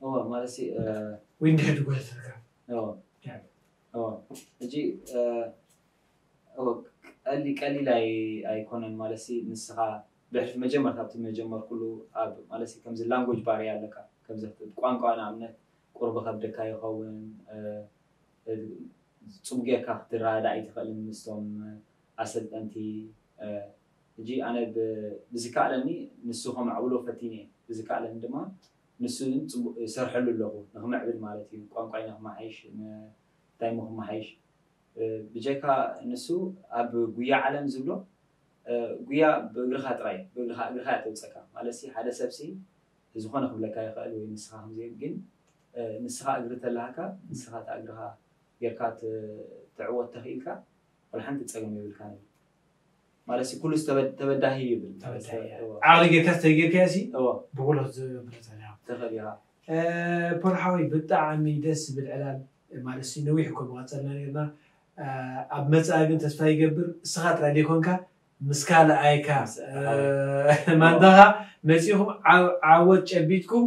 እዎ ማለት ወይ እንድሕር ድጎተተካ ሕጂ ቀሊ ቀሊል ኣይኮነን ማለት ንስኻ ብሕልፊ መጀመርታ ኣብቲ መጀመርኩሉ ኣብ ማለት ከምዚ ላንጎጅ ባርያ ኣለካ ከምዚ ቋንቋ ንኣብነት ቁርቢ ከብደካ ይኸውን ፅቡቅ ጌርካ ክትረዳእ ኣይትኽእልን ምስቶም ኣሰልጠንቲ ሕጂ ኣነ ብዝከኣለኒ ንሱ ከማዕብሎ ፈቲነ ብዝከኣለኒ ድማ ንሱ እውን ፅቡቅ ይሰርሐሉ ኣለኹ ንክምዕብል ማለት እዩ ቋንቋይ ንክመሓይሽ እንታይ ሞ ክመሓይሽ ብጀካ ንሱ ኣብ ጉያ ዓለም ዝብሎ ጉያ ብእግርኻ ጥራይ ብእግርኻ እግርኻ እያ ተውፀካ ማለት ሓደ ሰብ ሲ ዝኾነ ክብለካ ይኽእል ወይ ንስኻ ከምዚ ግን ንስኻ እግሪ ተላሃካ ንስኻ እታ እግርኻ ጌርካ ትዕወት ተኽኢልካ ወላ ሓንቲ ፀገም የብልካ ማለት ኩሉ ተበዳሂ ይብል ዓቕሊ ጌርካ ዝተጌርካ ሲ ብጉሎ ትኽእል ኢኻ ፖል ሓወይ ብጣዕሚ ደስ ዝብል ዕላል ማለት ነዊሕ እኮ ምቐፀልና ነርና ኣብ መፅኣ ግን ተስፋ ይገብር እስኻ ጥራይ ዘይኮንካ ምስ ካልኣይካ ማንታኻ መፂኹም ዓወት ጨቢጥኩም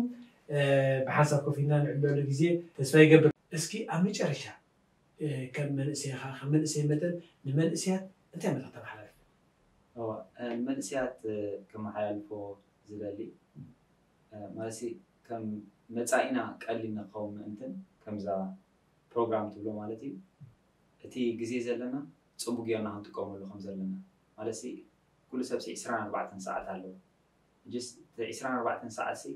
ብሓንሳብ ኮፍ ኢልና ንዕለሉ ግዜ ተስፋ ይገብር እስኪ ኣብ መጨረሻ ከም መንእሰይኻ ከም መንእሰይ መጠን ንመንእሰያት እንታይ መታ ተመሓላልፍ ንመንእሰያት ከመሓላልፎ ዝደሊ ማለት ከም መፃኢና ቀሊል ንክኸውን ምእንትን ከምዛ ፕሮግራም ትብሎ ማለት እዩ እቲ ግዜ ዘለና ፅቡቅ ጌርና ክንጥቀመሉ ከም ዘለና ማለት ኩሉ ሰብ ዕስራን ኣርባዕተን ሰዓት ኣለዎ ጅስ ዕስራን ኣርባዕተን ሰዓት ሲ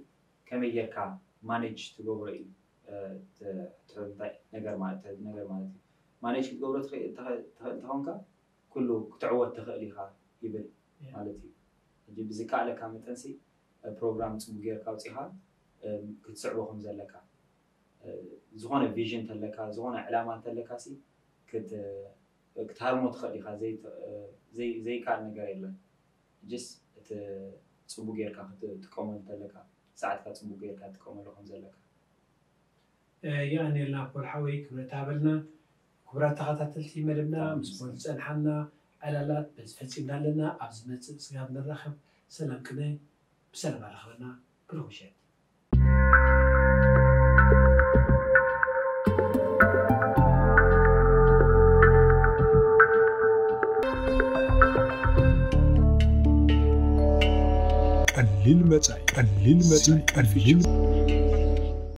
ከመይ ጌርካ ማኔጅ ትገብሮ እዩ። እ፣ ተ- ተ- እንታይ ነገር ማለት ተ- ነገር ማለት እዩ። ማኔጅ ክትገብሮ ትኽእል ተኸ- ትኽእል እንተኾንካ ኩሉ ክትዕወት ትኽእል ኢኻ ይብል ማለት እዩ። ሕጂ ብዝከኣለካ መጠንሲ ፕሮግራም ፅቡቅ ጌርካ ኣውፂኻ ክትስዕቦ ከም ዘለካ፣ ዝኾነ ቪዥን ተለካ፣ ዝኾነ ዕላማ እንተለካ ሲ ክትሃርሞ ትኽእል ኢኻ። ዘይከኣል ነገር የለን። ጅስ እቲ ፅቡቅ ጌርካ ክትጥቀመሉ እንተለካ፣ ሰዓትካ ፅቡቅ ጌርካ ትጥቀመሉ ከም ዘለካ። የቐንየልና ፖል ሓወይ፣ ክብረት ሃበልና። ክቡራት ተኸታተልቲ መደብና፣ ምስ ፖል ዝፀንሓና ዕላላት በዚ ፈፂምና ኣለና። ኣብ ዝመፅእ ስጋብ ንራኸብ ሰላም ቅነ ብሰላም ኣረኸበና። ብሩኽ ምሸት። ቀሊል መጻኢ ቀሊል መጻኢ ቀሊል